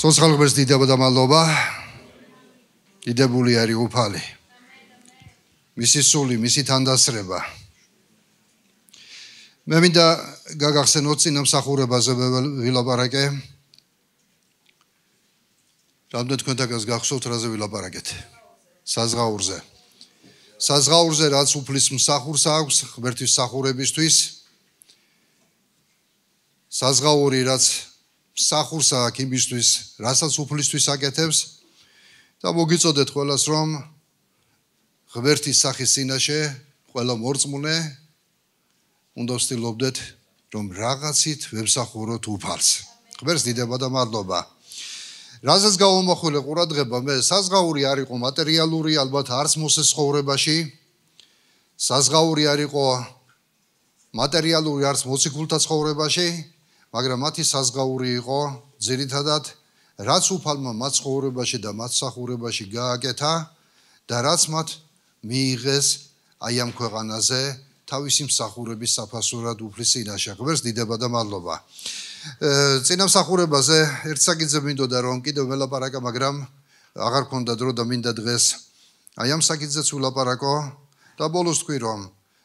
Სოცხალღმერთს დიდება და მადლობა. დიდებული არის უფალი. მისი სული, მისი თანდასწრება. მე მინდა გაგახსენოთ წინამსახურებაზე ვილაპარაკე. რამდენ თქვენთაგანს გახსოვთ რაზე ვილაპარაკეთ? საზღაურზე. საზღაურზე რაც უფლის მსახურს აქვს ღმერთის მსახურებისთვის. საზღაური რაც მსახურს აქვს იმისთვის, რასაც უფლისთვის აკეთებს და მოგიწოდეთ ყველას რომ ღმერთის სახის წინაშე ყველა მორწმუნე უნდა ვცდილობდეთ რომ რაღაცით ვემსახუროთ უფალს. ღმერთს დიდება და მადლობა. რაზეც გავამახვილე ყურადღება მე საზღაური არ იყო მატერიალური, ალბათ არც მოსეს ცხოვრებაში. საზღაური არ იყო მატერიალური, არც მოციქულთა ცხოვრებაში, მაგრამ მათი საზღაური იყო ძირითადად რაც უფალმა მათ ცხოვრებაში და მათ მსახურებაში გააკეთა და რაც მათ მიიღეს აი ამ ქვეყანაზე თავისი მსახურების საფასურად უფლის წინაშე. ღმერთს დიდება და მადლობა. წინამსახურებაზე ერთ საკითხზე მინდოდა რომ კიდევ ველაპარაკა, მაგრამ აღარ მქონდა დრო და მინდა დღეს აი ამ საკითხზეც ვილაპარაკო და ბოლოს თქვი რომ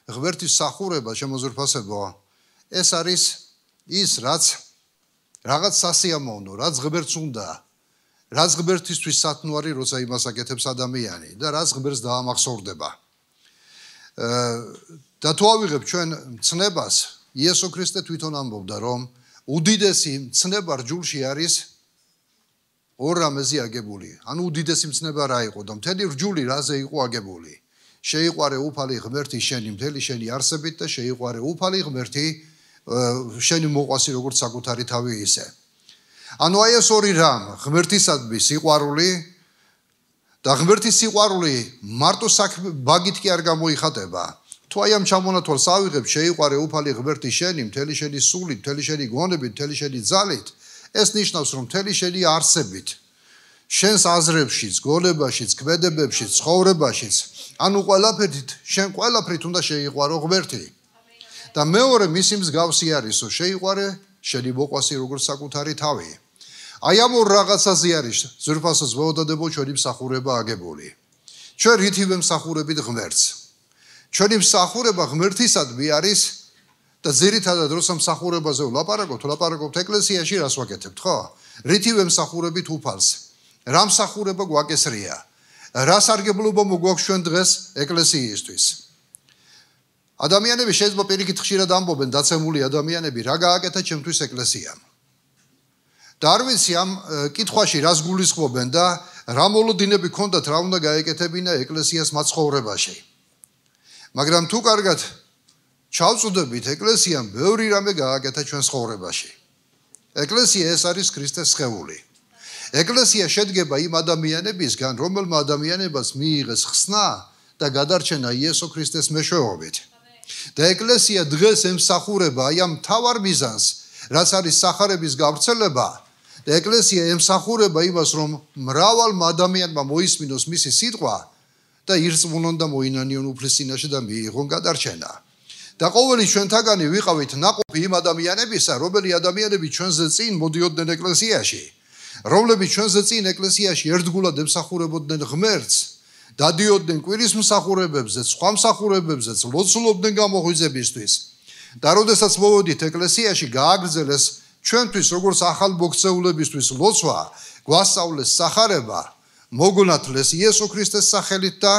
ღმერთის მსახურება შემოზრფასებო ეს არის ის რაც რაღაც სასიამოვნო, რაც ღმერთს უნდა, რაც ღმერთისთვის სათნოარი როცა იმას აკეთებს ადამიანი და რაც ღმერთს დაამახსოვრდება. და თუ ავიღებ ჩვენ ცნებას, იესო ქრისტე თვითონ ამბობდა რომ უდიდესი ცნება რჯულში არის ორ რამეზე აგებული. ანუ უდიდესი ცნება რა იყო და მთელი რჯული რაზე იყო აგებული. შეიყვარე უფალი ღმერთი შენი მთელი შენი არსებით და შეიყვარე უფალი ღმერთი შენი მოყვასი როგორც საკუთარი თავი ისე. ანუ აი ეს ორი რამ, ღმერთისადმი სიყვარული და ღმერთის სიყვარული მარტო ბაგით კი არ გამოიხატება. თუ აი ამ ჩამონათვალს ავიღებ, შეიყვარე უფალი ღმერთი შენი მთელი შენი სულით, მთელი შენი გონებით, მთელი შენი ძალით, ეს ნიშნავს რომ მთელი შენი არსებით, შენს აზრებშიც, გონებაშიც, ქმედებებშიც, ცხოვრებაშიც, ანუ ყველაფერით, შენ ყველაფრით უნდა შეიყვარო ღმერთი. და მეორე მისი მსგავსი არისო, შეიყვარე შენი მოყვასი როგორც საკუთარი თავი. აი ამ ორ რაღაცაზე არის ძვირფასოს ვეოდადებო ჩვენი მსახურება აგებული. ჩვენ რითი ვემსახურებით ღმერთს? ჩვენი მსახურება ღმერთისადმი არის და ძირითადად როცა მსახურებაზე ვლაპარაკობთ ეკლესიაში რას ვაკეთებთ, ხო? რითი ვემსახურებით უფალს? რა მსახურება გვაკესრია? რა სარგებლობა მოგვაქვს ჩვენ დღეს ეკლესიისთვის? ადამიანები შეიძლება პირიქით ხშირად ამბობენ, დაცემული ადამიანები, რა გააკეთა ჩემთვის ეკლესიამ. და არ ვიცი ამ კითხვაში რას გულისხმობენ და რა მოლოდინები ქონდათ, რა უნდა გაეკეთებინა ეკლესიას მათ ცხოვრებაში. მაგრამ თუ კარგად ჩავწუდებით, ეკლესიამ ბევრი რამე გააკეთა ჩვენ ცხოვრებაში. ეკლესია ეს არის ქრისტეს სხეული. ეკლესია შედგება იმ ადამიანებისგან, რომელმა ადამიანებას მიიღეს ხსნა და გადარჩენა იესო ქრისტეს მეშვეობით. და ეკლესია დღეს ემსახურება აი ამ მთავარ მიზანს, რაც არის სახარების გავრცელება და ეკლესია ემსახურება იმას, რომ მრავალმა ადამიანმა მოისმინოს მისი სიტყვა და ირწმუნონ და მოინანიონ უფლის წინაშე და მიიღონ გადარჩენა. და ყოველი ჩვენთაგანი ვიყავით ნაყოფი იმ ადამიანებისა, რომელი ადამიანები ჩვენზე წინ მოდიოდნენ ეკლესიაში, რომლებიც ჩვენზე წინ ეკლესიაში ერთგულად ემსახურებოდნენ ღმერთს, დადიოდნენ კვირის მსახურებებზე, სხვა მსახურებებზეც, ლოცულობდნენ გამოღვიძებისთვის. და როდესაც მოვედით ეკლესიაში, გააგრძელეს ჩვენთვის როგორც ახალ მოქცეულებისთვის ლოცვა, გვასწავლეს სახარება, მოგონათლეს იესო ქრისტეს სახელით და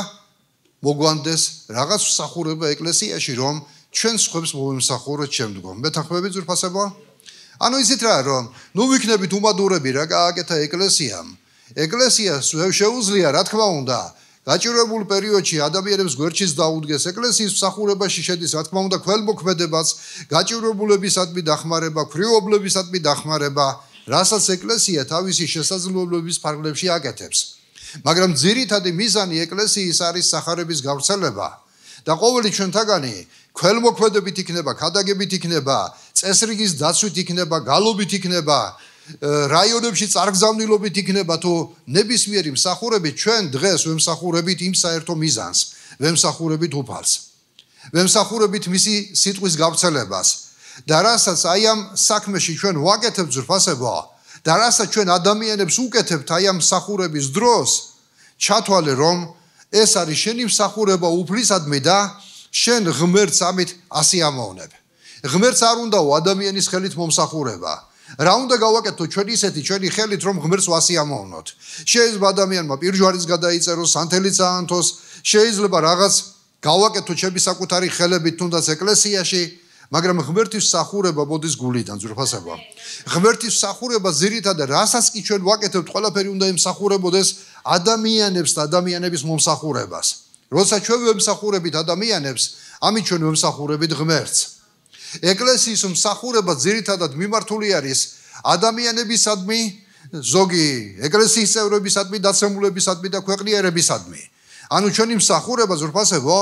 მოგვანდეს რაღაც მსახურება ეკლესიაში, რომ ჩვენ სხვებს მოვემსახუროთ შემდგომ. მეთანხმებით ძვირფასებო? ანუ იცით რა, რომ ნუ ვიქნებით უმადურები რა გააკეთა ეკლესიამ. ეკლესიას შეუძლია, რა თქმა უნდა, გაჭირვებულ პერიოდში ადამიანებს გვერდშიც დაუდგეს, ეკლესიის მსახურებაში შედის, რა თქმა უნდა, ქველმოქმედებაც, გაჭირვებულებისადმი დახმარება, ქვრივობლებისადმი დახმარება, რასაც ეკლესია თავისი შესაძლებლობის ფარგლებში აკეთებს. მაგრამ ძირითადი მიზანი ეკლესიის არის სახარების გავრცელება და ყოველი ჩვენთაგანი ქველმოქმედებით იქნება, ქადაგებით იქნება, წესრიგის დაცვით იქნება, გალობით იქნება, რაიონებში წარგზავნილობით იქნება თუ ნებისმიერი მსახურებით ჩვენ დღეს ვემსახურებით იმ საერთო მიზანს, ვემსახურებით უფალს. ვემსახურებით მისი სიტყვის გავრცელებას და რასაც აი ამ საქმეში ჩვენ ვაკეთებთ ძვირფასებო და რასაც ჩვენ ადამიანებს უკეთებთ აი ამ მსახურების დროს, ჩათვალე რომ ეს არის შენი მსახურება უფლისადმი და შენ ღმერთს ამით ასე ამოვნებ. ღმერთს არ უნდაო ადამიანის ხელით მომსახურება. რა უნდა გავაკეთო ჩვენ ისეთი ჩვენი ხელით რომ ღმერთს ვასიამოვნოთ. შეიძლება ადამიანმა პირჯვარიც გადაიწეროს, სანთელიც აანთოს, შეიძლება რაღაც გავაკეთო ჩემი საკუთარი ხელებით თუნდაც ეკლესიაში, მაგრამ ღმერთის მსახურება მოდის გულიდან, ძვირფასება. ღმერთის მსახურება ძირითადად რასაც კი ჩვენ ვაკეთებთ, ყველაფერი უნდა იმსახურებოდეს ადამიანებს და ადამიანების მომსახურებას. როცა ჩვენ ვემსახურებით ადამიანებს, ამით ჩვენ ვემსახურებით ღმერთს. ეკლესიის მსახურება ძირითადად მიმართული არის ადამიანებისადმი, ზოგი ეკლესიის წევრებისადმი, დაცემულებისადმი და ქვეყნიერებისადმი. ანუ ჩვენი მსახურება ზურფასებო,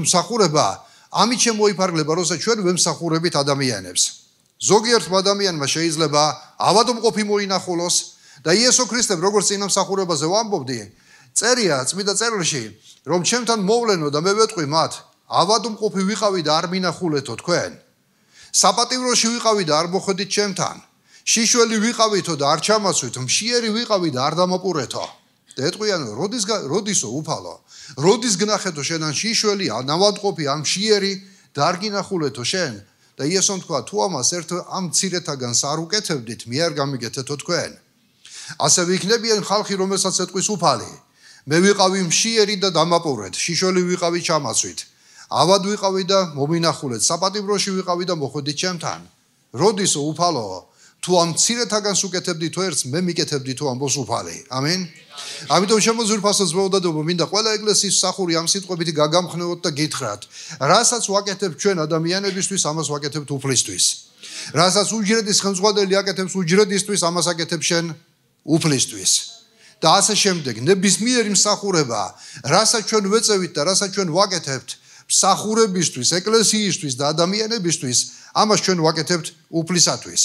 მსახურება ამით შემოიფარგლება, როცა ჩვენ ვემსახურებით ადამიანებს. ზოგიერთ ადამიანმა შეიძლება ავადმყოფი მოინახულოს და იესო ქრისტემ როგორც წინა მსახურებაზე ვამბობდი, წერია წმინდა წერილში, რომ ჩემთან მოვლენო და მე ვეტყვი მათ, ავადმყოფი ვიყავი და არ მინახულეთო თქვენ. საპატიმროში ვიყავი და არ მოხვედით ჩემთან. შიშველი ვიყავითო და არ ჩამასვით, მშიერი ვიყავი და არ დამაპურეთო. და ეტყვიანო, როდისო უფალო, როდის გნახეთო შენ ან შიშველი, ან ავადმყოფი, ან მშიერი და არ გინახულეთო შენ. და იესომ თქვა, თუ ამას ერთ ამ მცირეთაგანს არ უკეთებდით, მე არ გამიგეთეთო თქვენ. ასევე იქნებიან ხალხი, რომელსაც ეტყვის უფალი. მე ვიყავი მშიერი და დამაპურეთ, შიშველი ვიყავი ჩამასვით. ავად ვიყავი და მომინახულეთ, საპატიმროში ვიყავი და მოხვედით ჩემთან. როდისო უფალო, თუ ამ მცირეთაგანს უკეთებდი თუ ერთს, მე მიკეთებდი თუ ამბობს უფალი. ამინ. ამიტომ შემოძვირფასო ძმაოდადობო, მინდა ყველა ეკლესიის მსახური ამ სიტყვებით გაგამხნევოთ და გითხრათ, რასაც ვაკეთებთ ჩვენ ადამიანებისთვის, ამას ვაკეთებთ უფლისთვის. რასაც უჯრედის ხელმძღვანელი აკეთებს უჯრედისთვის, ამას აკეთებ შენ უფლისთვის. და ასე შემდეგ, ნებისმიერი მსახურება, რასაც ჩვენ ვეწევით და რასაც ჩვენ ვაკეთებთ მსახურებისთვის, ეკლესიისთვის და ადამიანებისთვის, ამას ჩვენ ვაკეთებთ უფლისათვის.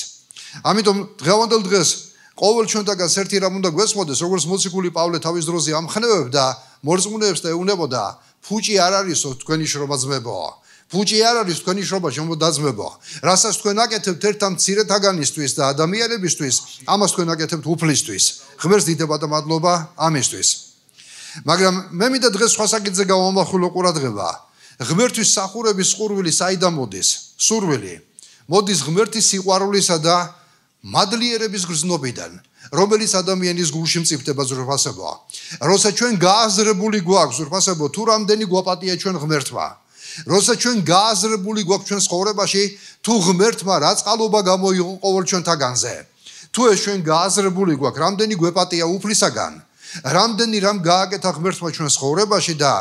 ამიტომ დღევანდელ დღეს ყოველ ჩვენთაგანს ერთი რამ უნდა გვესმოდეს, როგორც მოციქული პავლე თავის დროზე ამხნევებდა მორწმუნეებს და ეუბნებოდა, ფუჭი არ არისო თქვენი შრომა ძმებო. ფუჭი არ არის თქვენი შრომა შემოდაძმებო. რასაც თქვენ აკეთებთ ერთ ამ მცირეთაგანისთვის და ადამიანებისთვის, ამას თქვენ აკეთებთ უფლისთვის. ღმერთს დიდება და მადლობა ამისთვის. მაგრამ მე მინდა დღეს სხვა საკითხზე გავამახვილო ყურადღება. ღმერთის მსახურების სურვილი საიდან მოდის? სურვილი მოდის ღმერთის სიყვარულისა და მადლიერების გრძნობიდან, რომელიც ადამიანის გულში მწიფდება ზურფასებო. როცა ჩვენ გააზრებული გვაქვს ზურფასებო, თუ რამდენი გვაპატია ჩვენ ღმერთმა. როცა ჩვენ გააზრებული გვაქვს ჩვენ ცხოვრებაში, თუ ღმერთმა რა წყალობა გამოიღო ყოველ ჩვენთაგანზე. თუ ეს ჩვენ გააზრებული გვაქვს, რამდენი გვეპატია უფლისაგან, რამდენი რამ გააკეთა ღმერთმა ჩვენ ცხოვრებაში და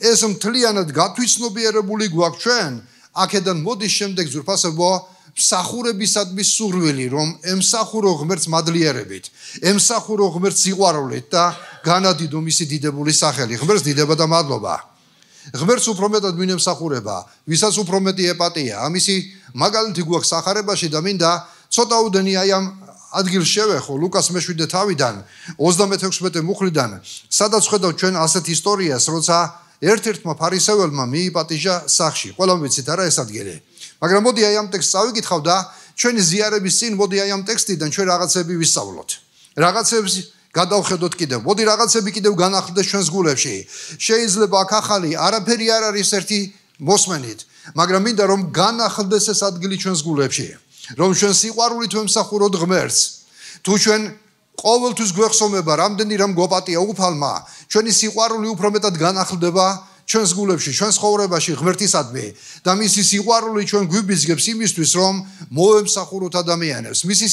ეს მთლიანად გათვითცნობიერებული გვაქვს ჩვენ, აქედან მოდის შემდეგ ზურფასებო მსახურებისადმი სურვილი, რომ ემსახურო ღმერთს მადლიერებით, ემსახურო ღმერთს სიყვარულით და განადიდო მისი დიდებული სახელი. ღმერთს დიდება და მადლობა. ღმერთს უფრო მეტად ვინ ემსახურება, ვისაც უფრო მეტი ეპატია. ამისი მაგალითი გვაქვს სახარებაში და მინდა ცოტაუდენი აი ამ ადგილს შევეხო ლუკას მე-7 თავიდან 36 მუხლიდან, სადაც ხედავთ ჩვენ ასეთ ისტორიას, როცა ერთ-ერთმა ფარისეველმა მიიპატიჟა სახში. ყველამ ვიცით არა ეს ადგილი. მაგრამ მოდი აი ამ ტექსტს წავიკითხავ და ჩვენი ზიარების წინ მოდი აი ამ ტექსტიდან ჩვენ რაღაცები ვისწავლოთ. რაღაცებს გადავხედოთ კიდევ. მოდი რაღაცები კიდევ განახლდეს ჩვენს გულებში. შეიძლება აქ ახალი არაფერი არ არის ერთი მოსმენით, მაგრამ მინდა რომ განახლდეს ეს ადგილი ჩვენს გულებში. რომ ჩვენ სიყვარულით ვემსახუროთ ღმერთს. თუ ჩვენ ყოველთვის გვეხსოვნება რამდენი რამ გვაპატია უფალმა, ჩვენი სიყვარული უფრო მეტად განახლდება ჩვენს გულებში, ჩვენს ცხოვრებაში ღმერთისადმი და მისი სიყვარული ჩვენ გვიბიზგებს იმისთვის, რომ მოემსახუროთ ადამიანებს. მისი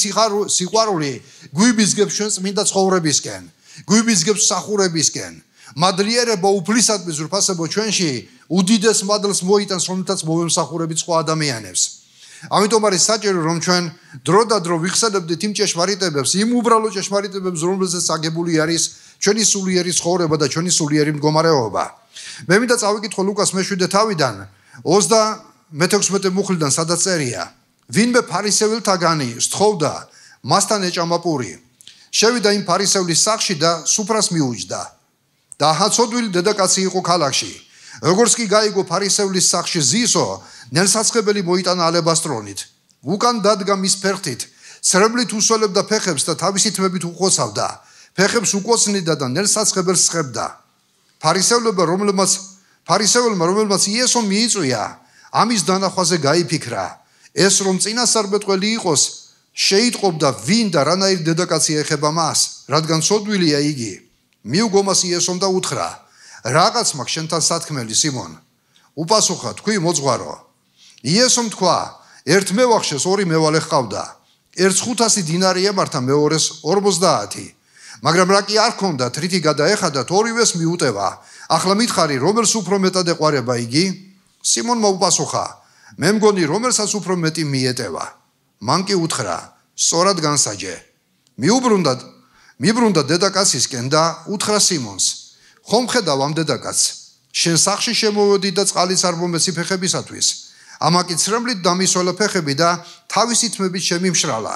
სიყვარული გვიბიზგებს ჩვენს წმინდა ცხოვრებისკენ, გვიბიზგებს მსახურებისკენ. მადლიერება უფლისადმი ზურფასებო ჩვენში უდიდეს მადლს მოიტანს, რომელთაც მოვემსახურებით სხვა ადამიანებს. ამიტომ არის საჭირო, რომ ჩვენ დრო და დრო ვიხსენებდით იმ ჭეშმარიტებებს, იმ უბრალო ჭეშმარიტებებს, რომელზეც აგებული არის ჩვენი სულიერი ცხოვრება და ჩვენი სულიერი მდგომარეობა. მე მინდა წავიკითხო ლუკას მე-7 თავიდან 36 მუხლიდან, სადაც წერია, ვინმე ფარისეველთაგანი სთხოვდა, მასთან ეჭამა პური. შევიდა იმ ფარისევლის სახლში და სუფრას მიუჯდა. და ჰაცოდვილი დედაკაცი იყო ქალაქში. როგორც კი გაიგო ფარისევლის სახლში ზისო, ნელსაცხებელი მოიტანა ალებასტრონით. უკან დადგა მის ფერხთით, ცრემლით უსველებდა ფეხებს და თავისი თმებით უყოცავდა. ფეხებს უკოცნიდა და ნელსაცხებელს სხებდა. ფარისეველმა, რომელმაც იესო მიიწვია, ამის დანახვაზე გაიფიქრა. ეს რომ წინასწარმეტყველი იყოს, შეიტყობდა ვინ და რანაირ დედაკაცი ეხება მას, რადგან ცოდვილია იგი. მიუგო მას იესომ და უთხრა: რაღაც მაქვს შენთან სათქმელი, სიმონ. უპასუხა: თქვი მოძღვარო. იესომ თქვა: ერთ მევახშეს ორი მევალე ჰყავდა. ერთს 500 დინარი ემართა, მეორეს 50. მაგრამ რა კი არ ჰქონდათ, რითი გადაეხადათ, ორივეს მიუტევა. ახლა მითხარი, რომელს უფრო მეტად ეყვარება იგი? სიმონმა უპასუხა: მე მგონი, რომელსაც უფრო მეტი მიეტევა. მან კი უთხრა: სწორად განსაჯე. მიბრუნდა დედაკაცისკენ და უთხრა სიმონს: ხომ ხედავ ამ დედაკაცს? შენ სახლში შემოვედი და წყალიც არ მომეცი ფეხებისათვის. ამაკი ცრემლით დამისვლა ფეხები და თავისი თმებით შემიმშრალა.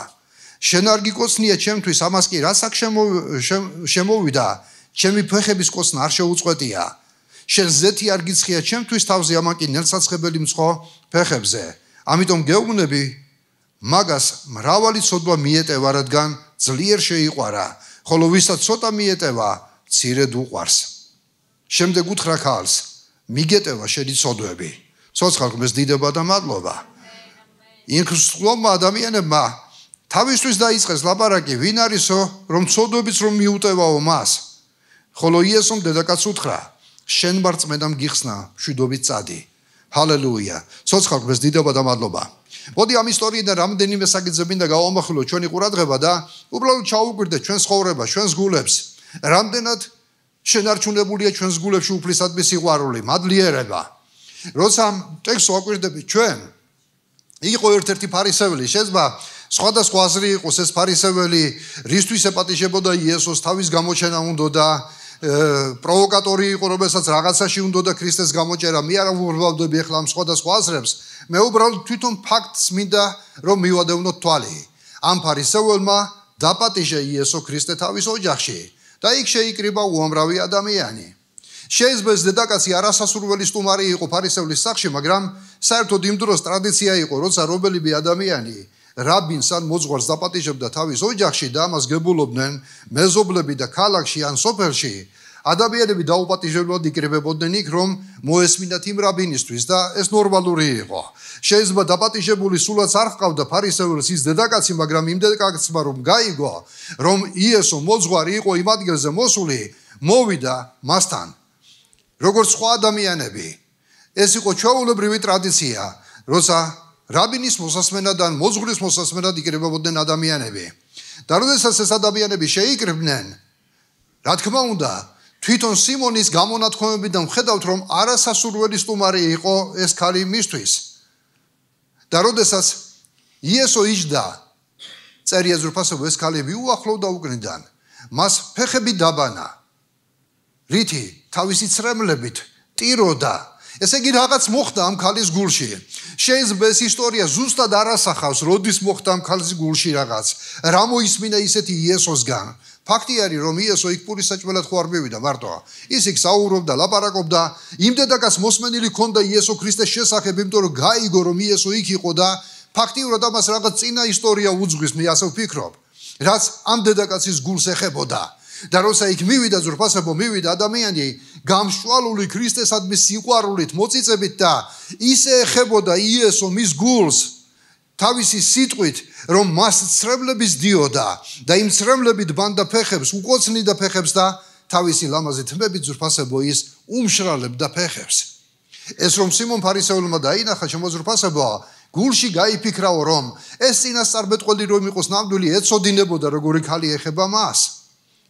შენ არ გიკოცნია ჩემთვის, ამას კი რას აქ შემოვიდა, ჩემი ფეხების კოცნა არ შეუწყვეტია. შენ ზეთი არ გიცხია ჩემთვის თავზე, ამაკი ნელსაცხებელი მწყო ფეხებზე. ამიტომ გეუბნები, მაგას მრავალი ცოდვა მიეტევა, რადგან ძლიერ შეიყვარა, ხოლო ვისაც ცოტა მიეტევა, მცირედ უყვარს. შემდეგ უთხრა ქალს: მიგეტევა შენი ცოდვები. ცოცხალს დიდება და მადლობა. ინքრსტლომმა ადამიანებმა თავისთვის დაიწყეს ლაპარაკი, ვინ არისო, რომ ცოდვებიც რომ მიუტევაო მას. ხოლო იესომ დედაკაცს უთხრა: შენ მარწმენამ გიხსნა, მშვიდობით წადი. ჰალელუია. ცოცხალს დიდება და მადლობა. მოდი ამ ისტორიიდან რამდენიმე საკითხი მინდა გავამახვილოთ ჩვენი ყურადღება და უბრალოდ ჩაუგვირდეთ ჩვენს ცხოვრებას, ჩვენს გულებს. რამდენად შენარჩუნებულია ჩვენს გულებში უფლისადმი სიყვარული, მადლიერება. როცა ტექსტს ვაკვირდებით ჩვენ, იყო ერთ-ერთი ფარისეველი, შეიძლება სხვადასხვა აზრი იყოს ეს ფარისეველი, რისთვის ეპატიჟებოდა იესოს, თავის გამოჩენა უნდოდა, პროვოკატორი იყო, რომელსაც რაღაცაში უნდოდა ქრისტეს გამოჭერა. მე არ ვურბავდები ახლა ამ სხვადასხვა აზრებს. მე უბრალოდ თვითონ ფაქტს მინდა რომ მივადევნოთ თვალი. ამ ფარისეველმა დაპატიჟა იესო ქრისტე თავის ოჯახში და იქ შეიკრიბა უამრავი ადამიანი. შეიძლება ეს დედაკაცი არასასურველი სტუმარი იყო ფარისევლის სახლში, მაგრამ საერთოდ იმ დროს ტრადიცია იყო, როცა რომელიმე ადამიანი რაბინს ან მოძღვარს დაპატიჟებდა თავის ოჯახში და ამას გებულობდნენ მეზობლები და ქალაქში ან სოფელში, ადამიანები დაუპატიჟებლად იკრიბებოდნენ იქ, რომ მოესმინათ იმ რაბინისთვის და ეს ნორმალური იყო. შეიძლება დაპატიჟებული სულაც არ ჰყავდა ფარისეველს ის დედაკაცი, მაგრამ იმ დედაკაცმა რომ გაიგო, რომ იესო მოძღვარი იყო იმ ადგილზე მოსული, მოვიდა მასთან. როგორც სხვა ადამიანები, ეს იყო ჩვეულებრივი ტრადიცია, როცა რაბინის მოსასმენად ან მოძღვრის მოსასმენად იკრიბებოდნენ ადამიანები. და როდესაც ეს ადამიანები შეიკრიბნენ, რა თქმა უნდა, თვითონ სიმონის გამონათქვამებიდან ვხედავთ, რომ არასასურველი სტუმარი იყო ეს ქალი მისთვის. და როდესაც იესო იჯდა, წერია ზრფასობ, ეს ქალი მიუახლოვდა უკნიდან, მას ფეხები დაბანა, რითი თავისი ცრემლებით ტიროდა. ესე იგი რაღაც მოხდა ამ ქალის გულში. შეიძლება ეს ისტორია ზუსტად არ ასახავს, როდის მოხდა ამ ქალის გულში რაღაც, რა მოისმინა ისეთი იესოსგან. ფაქტი არის, რომ იესო იქ პურისაჭმელად ხო არ მივიდა მარტო. ის იქ საუბრობდა, ლაპარაკობდა, იმ დედაკაცს მოსმენილი ჰქონდა იესო ქრისტეს შესახებ, იმიტომ რომ გაიგო, რომ იესო იქ იყო და ფაქტიურად ამას რაღაც წინა ისტორია უძღვის, მე ასე ვფიქრობ, რაც ამ დედაკაცის გულს ეხებოდა. და როცა იქ მივიდა ზრფასებო, მივიდა ადამიანი გამშვალული ქრისტესადმი სიყვარულით, მოწიწებით და ისე ეხებოდა იესო მის გულს თავისი სიტყვით, რომ მას ცრემლების დიოდა და იმ ცრემლებით ბანდა ფეხებს, უკოცნიდა ფეხებს და თავისი ლამაზი თმებით ზრფასებო ის უმშრალებდა ფეხებს. ეს რომ სიმონ ფარისეველმა დაინახა, შემოზრფასებო, გულში გაიფიქრაო, რომ ეს წინასწარმეტყველი რომ იყოს ნამდვილი, ეცოდინებოდა როგორი ქალი ეხება მას.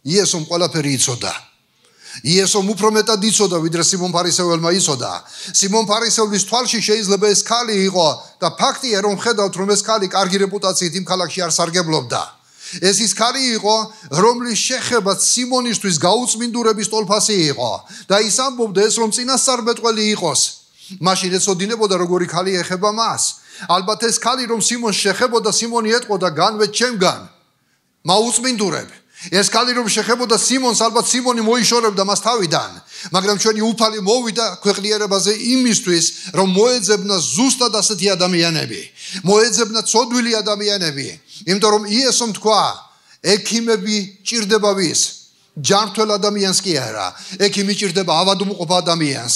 იესომ ყველაფერი იცოდა. იესომ უფრო მეტად იცოდა, ვიდრე სიმონ ფარისეველმა იცოდა. სიმონ ფარისეველის თვალში შეიძლება ეს ქალი იყო და ფაქტია, რომ ხედავთ, რომ ეს ქალი კარგი რეპუტაციით იმ ქალაქში არ სარგებლობდა. ეს ის ქალი იყო, რომლის შეხებაც სიმონისთვის გაუწმინდურების ტოლფასი იყო და ის ამბობდა, ეს რომ წინასწარმეტყველი იყოს, მაშინ ეცოდინებოდა როგორი ქალი ეხება მას. ალბათ ეს ქალი რომ სიმონს შეხებოდა, სიმონი ეტყოდა, განვეთ ჩემგან, მაუწმინდურებ. ეს ქალი რომ შეხებოდა სიმონს, ალბათ სიმონი მოიშორებდა მას თავიდან, მაგრამ ჩვენი უფალი მოვიდა ქვეყნიერებაზე იმისთვის, რომ მოეძებნა ზუსტად ასეთი ადამიანები, მოეძებნა ცოდვილი ადამიანები, იმიტომ რომ იესომ თქვა, ექიმები ჭირდება ვის? ჯანმრთელ ადამიანს კი არა. ექიმი ჭირდება ავადმყოფ ადამიანს.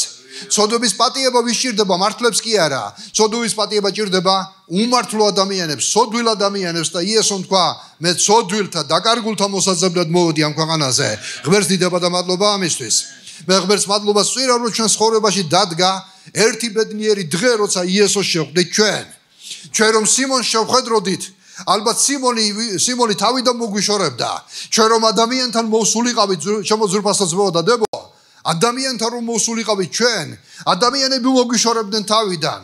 ცოდვების პატიება ვის ჭირდება? მართლებს კი არა. ცოდვის პატიება ჭირდება უმართლო ადამიანებს, ცოდვილ ადამიანებს და იესომ თქვა, მე ცოდვილთა დაკარგულთა მოსაძებნად მოვედი ამ ქვეყანაზე. ღმერთს დიდება და მადლობა ამისთვის. მე ღმერთს მადლობას ვწირა, რომ ჩვენ ცხოვრებაში დადგა ერთი ბედნიერი დღე, როცა იესოს შევხვდით ჩვენ. ჩვენ რომ სიმონს შევხედროდით, ალბათ სიმონი თავიდან მოგვიშორებდა. ჩვენ რომ ადამიანთან მოვსულიყავით, შემოძვრფასო ძმაო და დებო, ადამიანთან რომ მოვსულიყავით ჩვენ, ადამიანები მოგვიშორებდნენ თავიდან.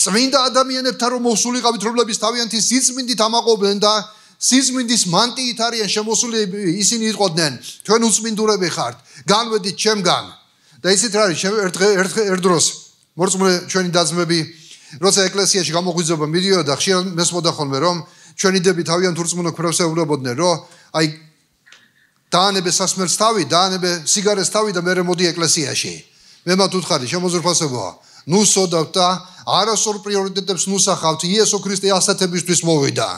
წმინდა ადამიანებთან რომ მოვსულიყავით, რომლებიც თავიანთი სიწმინდით ამაყობდნენ და სიწმინდის მანტიით არიან შემოსული, ისინი იტყოდნენ, ჩვენ უწმინდურები ხართ, განვედით ჩემგან. და ისიც რა არის, ერთ დროს მორწმუნე ჩვენი დაძმები, როცა ეკლესიაში გამოღვიძება მიდიოდა, ხშირად მესმოდა ხოლმე, რომ ჩვენი დები თავიანთ ურწმუნო ქვებს ეუბნებოდნენ, რომ აი დაანებე სასმელს თავი, დაანებე სიგარეს თავი და მერე მოდი ეკლესიაში. მე მათ უთხარი, შემოძვრფასებოა, ნუ სოდავთ და არასწორ პრიორიტეტებს ნუსახავთ, იესო ქრისტე ასათებისთვის მოვიდა.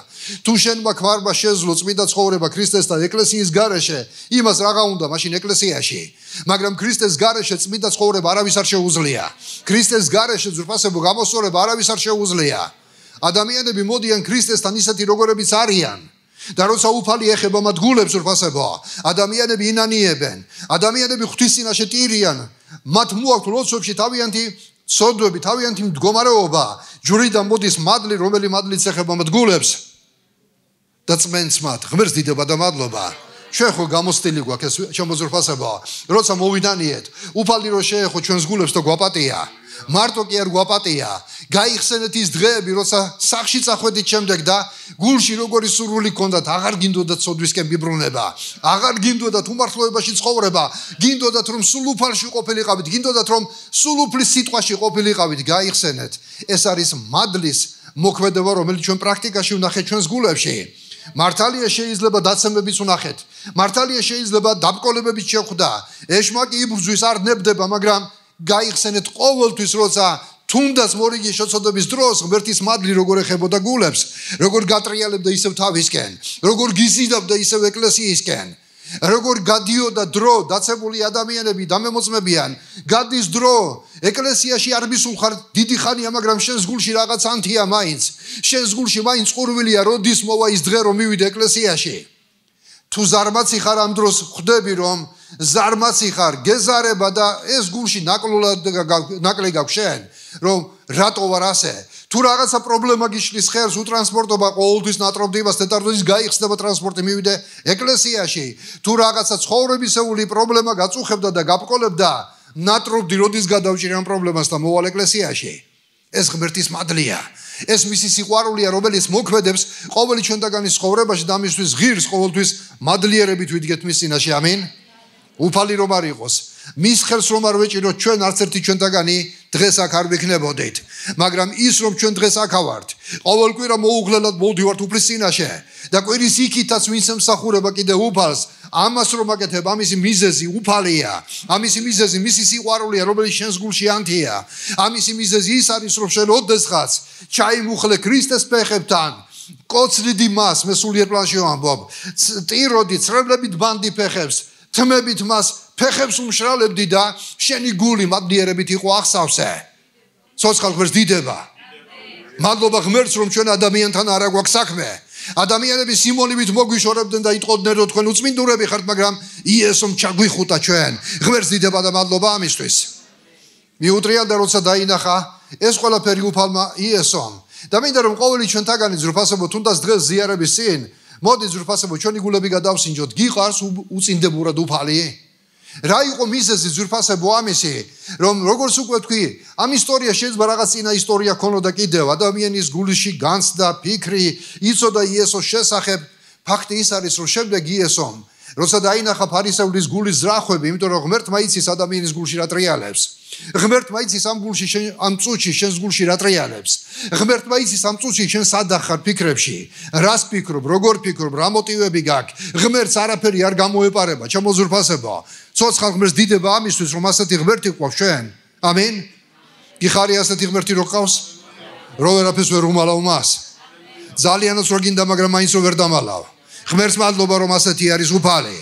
თუ შენ მაქვარმა შეძლო წმინდა ცხოვრება ქრისტესთან ეკლესიის გარეშე, იმას რაღა უნდა მაშინ ეკლესიაში. მაგრამ ქრისტეს გარეშე წმინდა ცხოვრება არავის არ შეუძლია. ქრისტეს გარეშე ძვირფასებო გამოსწორება არავის არ შეუძლია. ადამიანები მოდიან ქრისტესთან ისეთი როგორებიც არიან. და როცა უფალი ეხება მათ გულებს ძვირფასებო, ადამიანები ინანიებენ, ადამიანები ღვთის წინაშე ტირიან, მათ მოაქვთ ლოცვებში თავიანთი ცოდვები, თავიანთი მდგომარეობა, ჯვრიდან მოდის მადლი, რომელი მადლიც ეხება მათ გულებს და წმენს მათ. ღმერთს დიდება და მადლობა. ჩვენ ხო გამოსტილი გვაქვს ეს შემოძვრფასება, როცა მოვიდანიეთ, უფალი რო შეეხო ჩვენს გულებს და გვაპატია. მარტო კი არ გვაპატია. გაიხსენეთ ის დღეები, როცა სახში წახვედით შემდეგ და გულში როგორი სურვილი გქონდათ, აღარ გინდოდათ ცოდვისკენ მიბრუნება, აღარ გინდოდათ უმართლოებაში ცხოვრება, გინდოდათ რომ სულ უფალში ყოფილიყავით, გინდოდათ რომ სულ უფლის სიტყვაში ყოფილიყავით, გაიხსენეთ. ეს არის მადლის მოქმედება, რომელიც ჩვენ პრაქტიკაში ვნახეთ ჩვენს გულებში. მართალია შეიძლება დაცემებიც ვნახეთ. მართალია შეიძლება დაბკოლებებიც შეხვდა. ეშმაკი იბრძვის არ ნებდება, მაგრამ გაიხსენეთ ყოველთვის, როცა თუნდაც მორიგი შეწოდების დროს ღმერთის მადლი როგორ ეხებოდა გულებს, როგორ გატრიალებდა ისევ თავისკენ, როგორ გიზიდავდა ისევ ეკლესიისკენ, როგორ გადიოდა დრო, დაცებული ადამიანები დამემოწმებიან, გადის დრო, ეკლესიაში არ მისულხარ დიდი ხანია, მაგრამ შენს გულში რაღაც ანთია მაინც, შენს გულში მაინც ყურვილია, როდის მოვა ის დღე, რომ მივიდე ეკლესიაში. თუ ზარმაცი ხარ ამ დროს ხვდები, რომ ზარმაცი ხარ, გეზარება და ეს გულში ნაკლი გაქვს შენ, რომ რატო ვარ ასე? თუ რაღაცა პრობლემა გიშლის ხერს, უტრანსპორტობა ყოველთვის ნატრობდებას, თეთრდღის გაიხსნება ტრანსპორტი მივიდე ეკლესიაში. თუ რაღაცა ცხოვრებისეული პრობლემა გაწუხებდა და გაბკოლებდა, ნატრობდი როდის გადავჭირე ამ პრობლემას და მოვალ ეკლესიაში. ეს ღმერთის მადლია. ეს მისი სიყვარულია, რომელიც მოქმედებს ყოველი ჩვენთაგანის ცხოვრებაში და ამისთვის ღირს ყოველთვის მადლიერებით ვიდგეთ მის წინაშე. ამინ. უფალი რომ არ იყოს, მის ხელს რომ არ ვეჭიროთ, ჩვენ არც ერთი ჩვენთაგანი დღეს აქ არ ვიქნებოდით, მაგრამ ის რომ ჩვენ დღეს აქ ავართ, ყოველ კვირა მოუღლელად მოვდივართ უფლის წინაშე და კვირის იქითაც ვინც ემსახურება კიდე უფალს, ამას რომ აკეთებ, ამისი მიზეზი უფალია, ამისი მიზეზი მისი სიყვარულია, რომელიც შენს გულში ანთია, ამისი მიზეზი ის არის, რომ შენ ოდესღაც ჩაიმუხლე ქრისტეს ფეხებთან, კოცრიდი მას, მე სულიერ პლანში ვამბობ, ტიროდი, წრებლებით ბანდი ფეხებს, თმებით მას ფეხებს უმშრალებდი და შენი გული მადლიერებით იყო ახსავსე. ცოცხალ ღმერთს დიდება. მადლობა ღმერთს, რომ ჩვენ ადამიანთან არ აგვაქვს საქმე. ადამიანები სიმონივით მოგვიშორებდნენ და იტყოდნენ, რომ თქვენ უწმინდურები ხართ, მაგრამ იესომ ჩაგვიხუტა ჩვენ. ღმერთს დიდება და მადლობა ამისთვის. მიუტრია და როცა დაინახა ეს ყველაფერი უფალმა იესომ. და მინდა რომ ყოველი ჩვენთაგანი ძვირფასებო თუნდაც დღეს ზიარების წინ მოდი ძვირფასებო ჩვენი გულები გადავსინჯოთ, გიყარს უწინდებურად უფალი? რა იყო მიზეზი ძვირფასებო ამისი, რომ როგორც უკვე თქვი, ამ ისტორია შეიძლება რაღაც წინა ისტორია ქონოდა კიდევ, ადამიანის გულში განცდა ფიქრი, იცოდა იესოს შესახებ, ფაქტი ის არის, რომ შემდეგ იესომ, როცა დაინახა ფარისევლის გულის ზრახვები, იმიტომ რომ ღმერთმა იცის ადამიანის გულში რა ტრიალებს. ღმერთმა იცის ამ გულში ამ წუთში შენს გულში რა ტრიალებს. ღმერთმა იცის ამ წუთში შენ სადახ ხარ ფიქრებში, რას ფიქრობ, როგორ ფიქრობ, რა მოტივები გაქვს. ღმერთს არაფერი არ გამოეპარება, ჩამოზურფასება. ცოცხალ ღმერთს დიდება ამისთვის, რომ ასეთი ღმერთი გვყავს ჩვენ. ამინ. გიხარი ასეთი ღმერთი რო ყავს? რო ვერაფერს ვერ უმალავ მას. ძალიანაც რო გინდა, მაგრამ მაინც რო ვერ დამალავ. ღმერთს მადლობა, რომ ასეთი არის უფალი.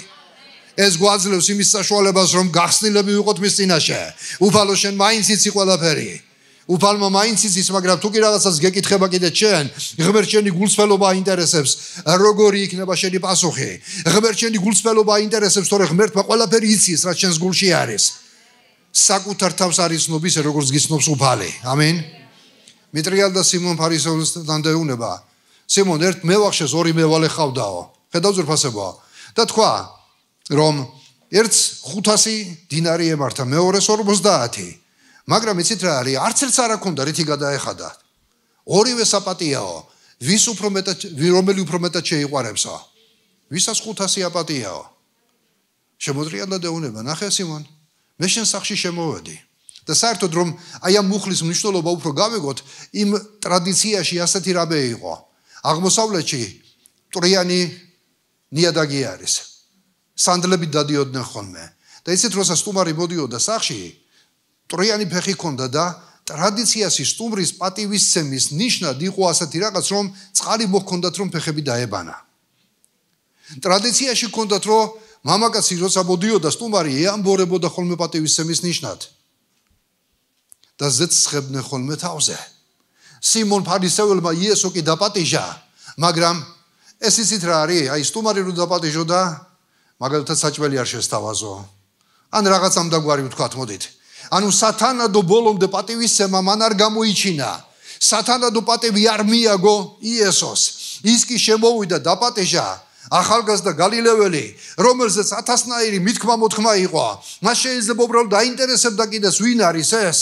ეს გვაძლევს იმის საშუალებას, რომ გახსნილები ვიყოთ მის წინაშე. უფალო, შენ მაინც იცი ყველაფერი. უფალმა მაინც იცის, მაგრამ თუ კი რაღაცას გეკითხება კიდე შენ, ღმერთ შენი გულწრფელობა აინტერესებს, როგორი იქნება შენი პასუხი. ღმერთ შენი გულწრფელობა აინტერესებს, თორე ღმერთმა ყველაფერი იცის, რაც შენს გულში არის. საკუთარ თავს არ იცნობ ისე, როგორც გიცნობს უფალი. ამინ. მიტრიალ და სიმონ ფარისევლისთან დაეუნება. სიმონ ერთ მევახშეს ორი მევალე ხავდაო. ხედავ ზურფასებო. და თქვა, რომ ერთს 500 დინარი ემართა, მეორეს 50. მაგრამ იცით რა არის? არც ერთს არ აქონდა რითი გადაეხადა. ორივე საპატიაო. რომელი უფრო მეტად შეიყვარებსო? ვისაც 500 აპატიაო. შემოძრია და დაეუნება, ნახე სიმონ, მე შენ სახში შემოვედი. და საერთოდ რომ აი ამ მუხლის მნიშვნელობა უფრო გავიგოთ, იმ ტრადიციაში ასეთი რამე იყო. აღმოსავლეთში ტრიანი ნიადაგი არის. სანდლები დადიოდნენ ხოლმე. და იცით როცა სტუმარი მოდიოდა სახში, ტრიანი ფეხი ჰქონდა და ტრადიციაში სტუმრის პატივისცემის ნიშნად იყო ასეთი რაღაც, რომ წყალი მოჰქონდათ, რომ ფეხები დაებანა. ტრადიციაში ჰქონდათ, რომ მამაკაცი როცა მოდიოდა სტუმარი ეამბორებოდა ხოლმე პატივისცემის ნიშნად. და ზეცხებდნენ ხოლმე თავზე. სიმონ ფარისეველმა იესო კი დაპატიჟა, მაგრამ ეს იცით რა არის? აი სტუმარი რო დაპატიჟოდა, მაგალითად საჭმელი არ შესთავაზო. ან რაღაც ამ დაგვარი ვთქვათ, მოდით. ანუ სათანადო ბოლომდე პატივისცემა მან არ გამოიჩინა. სათანადო პატივი არ მიაგო იესოს. ის კი შემოვიდა დაპატიჟა, ახალგაზრდა გალილეველი, რომელზეც 1000-ნაირი მithქმა მოთქმა იყო. მას შეიძლება უბრალოდ დაინტერესებდა კიდეს ვინ არის ეს.